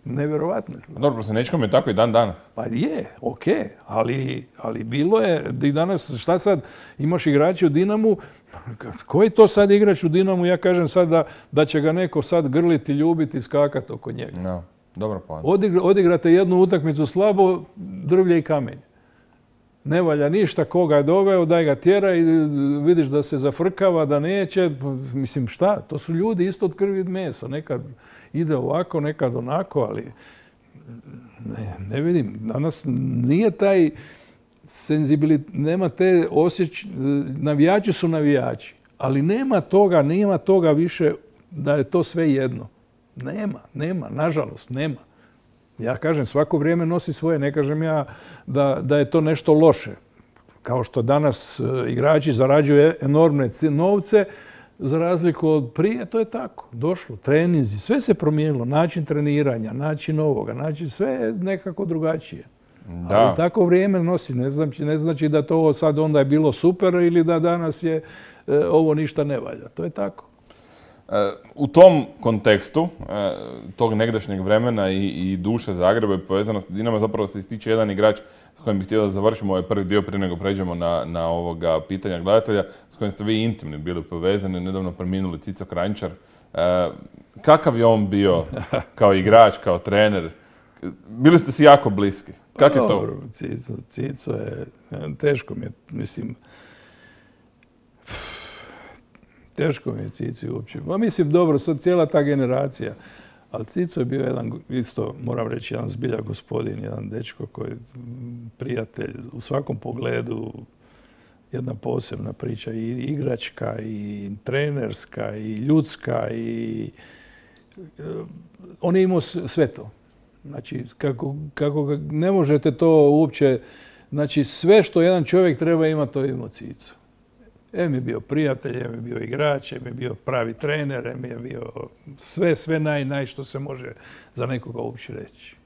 nevjerovatno. Dobro, Prosinečkom je tako i dan danas. Pa je, okej, ali bilo je i danas, šta sad, imaš igrače u Dinamu, koji to sad igrač u Dinamu, ja kažem sad da će ga neko sad grliti, ljubiti, skakati oko njega. No, dobro poanta. Odigrate jednu utakmicu slabo, drvlje i kamenje. Ne valja ništa, koga je doveo, daj ga tjera i vidiš da se zafrkava, da neće. Mislim, šta? To su ljudi isto od krvi i mesa. Nekad ide ovako, nekad onako, ali ne vidim. Danas nije taj senzibilitet, nema te navijači su navijači, Ali nema toga više da je to sve jedno. Nema, nažalost, nema. Ja kažem, svako vrijeme nosi svoje, ne kažem ja da je to nešto loše. Kao što danas igrači zarađuju enormne novce, za razliku od prije, to je tako. Došlo, treninzi, sve se promijenilo, način treniranja, način ovoga, sve je nekako drugačije. Da. Ali tako vrijeme nosi, ne znači da to sad onda je bilo super ili da danas je ovo ništa ne valja. To je tako. U tom kontekstu, tog negdašnjeg vremena i duše Zagreba i povezanosti Dinama, zapravo se ističe jedan igrač s kojim bih htio da završimo ovaj prvi dio prije nego pređemo na ovoga pitanja gledatelja, s kojim ste vi intimni bili povezani, nedavno preminuli Cico Kranjčar. Kakav je on bio kao igrač, kao trener? Bili ste si jako bliski. Kako je to? Dobro, Cico je, teško mi je, mislim, teško mi je Cici uopće. Mislim, dobro, sad cijela ta generacija. Ali Cico je bio jedan, isto moram reći, jedan zbilja gospodin, jedan dečko koji je prijatelj u svakom pogledu, jedna posebna priča, i igračka, i trenerska, i ljudska, i on je imao sve to. Znači, kako ne možete to uopće, znači sve što jedan čovjek treba imati, to je imao Cico. Em je bio prijatelj, em je bio igrač, em je bio pravi trener, em je bio sve naj što se može za nekoga uopće reći.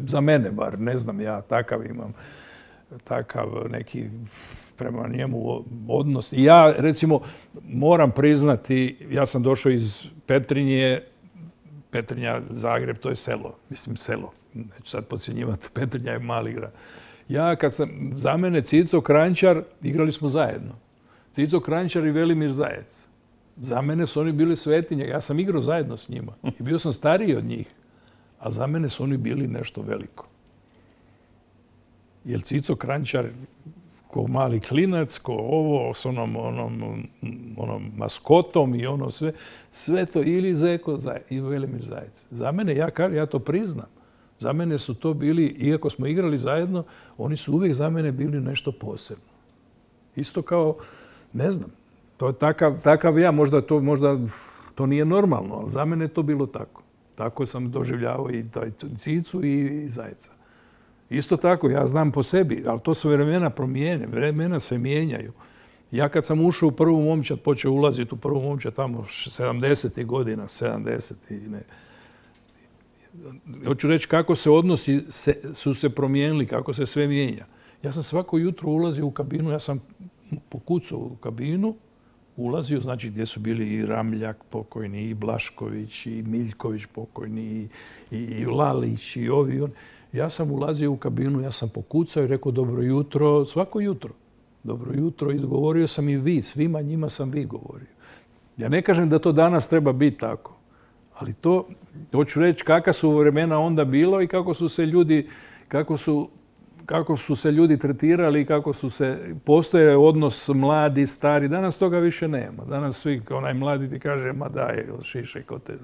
Za mene bar, ne znam, ja takav imam, takav neki prema njemu odnos. I ja, recimo, moram priznati, ja sam došao iz Petrinje, Petrinja, Zagreb, to je selo, mislim selo, neću sad podcjenjivati, Petrinja je mali grad. Ja kad sam, za mene Cico Kranjčar, igrali smo zajedno. Cico Kranjčar i Velimir Zajec. Za mene su oni bili svetinje. Ja sam igrao zajedno s njima i bio sam stariji od njih. A za mene su oni bili nešto veliko. Jer Cico Kranjčar, ko mali klinac, ko ovo, s onom maskotom i ono sve to ili Zeko i Velimir Zajec. Za mene, ja to priznam, za mene su to bili, iako smo igrali zajedno, oni su uvijek za mene bili nešto posebno. Isto kao, ne znam, to je takav ja, možda to nije normalno, ali za mene je to bilo tako. Tako sam doživljavao i Cicu i Zajca. Isto tako, ja znam po sebi, ali to su vremena promijene, vremena se mijenjaju. Ja kad sam ušao u prvu momčad, počeo ulaziti u prvu momčad tamo 70. godina, 70. ne. Hoću reći kako se odnosi su se promijenili, kako se sve mijenja. Ja sam svako jutro ulazio u kabinu, ja sam pokucao u kabinu, ulazio, znači gdje su bili i Ramljak pokojni, i Blašković, i Miljković pokojni, i Lalić, i ovi i oni. Ja sam ulazio u kabinu, ja sam pokucao i rekao dobro jutro, svako jutro. Dobro jutro i govorio sam i vi, svima njima sam vi govorio. Ja ne kažem da to danas treba biti tako, ali to, hoću reći kakva su vremena onda bilo i kako su se ljudi tretirali i kako postoje odnos mladi, stari. Danas toga više nema. Danas svi, onaj mladi ti kaže, ma daj, šišaj ko te...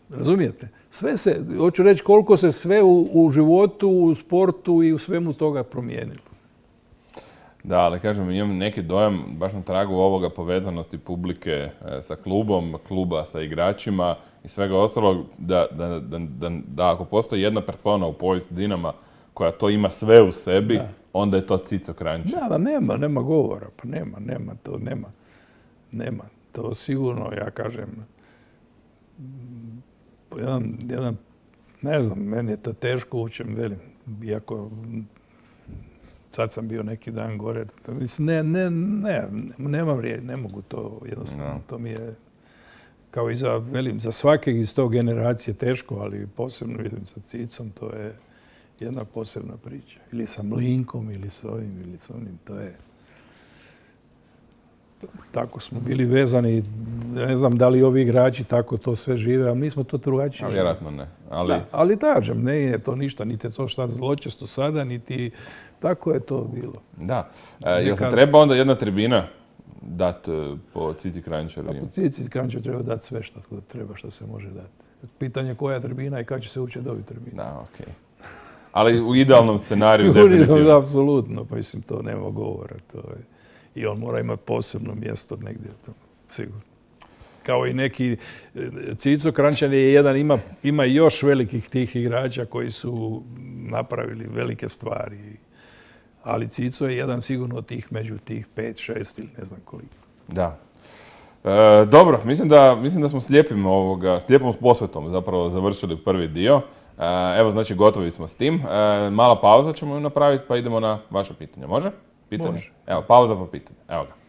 Razumijete? Sve se, hoću reći koliko se sve u životu, u sportu i u svemu toga promijenilo. Da, ali kažem, imam neki dojam baš na tragu ovoga povezanosti publike sa klubom, kluba sa igračima i svega ostalog, da ako postoji jedna persona u povijesti Dinama koja to ima sve u sebi, onda je to Cico Kranjčar. Da, nema govora, pa nema. To sigurno, ja kažem, jedan, ne znam, meni je to teško uopće, velim, iako sad sam bio neki dan gore, mislim, nemam riječ, ne mogu to jednostavno, to mi je, kao i za svakeg iz tog generacije teško, ali posebno vidim sa Cicom, to je jedna posebna priča. Ili sa Mlinkom, ili s ovim, ili s onim, to je... Tako smo bili vezani, ne znam da li ovi igrači tako to sve žive, ali mi smo to drugačije. Vjerojatno ne. Ali kažem, ne je to ništa, niti je to šta zločesto sada, niti tako je to bilo. Da. Jel se treba onda jedna tribina dati po Cici Kranjčaru? Po Cici Kranjčaru treba dati sve što treba, što se može dati. Pitanje koja je tribina i kada će se uopće dobiti tribina. Da, okej. Ali u idealnom scenariju definitivno. Apsolutno, pa mislim, to nema govora. I on mora imati posebno mjesto negdje, sigurno. Kao i neki, Cico Kranjčan je jedan, ima još velikih tih igrača koji su napravili velike stvari. Ali Cico je jedan sigurno od tih među tih 5, 6 ili ne znam koliko. Da. Dobro, mislim da smo s lijepom posvetom zapravo završili prvi dio. Evo, znači, gotovi smo s tim. Mala pauza ćemo ju napraviti, pa idemo na vaše pitanje. Može? Pitanje? Može. Evo, pauza pa pitanje. Evo ga.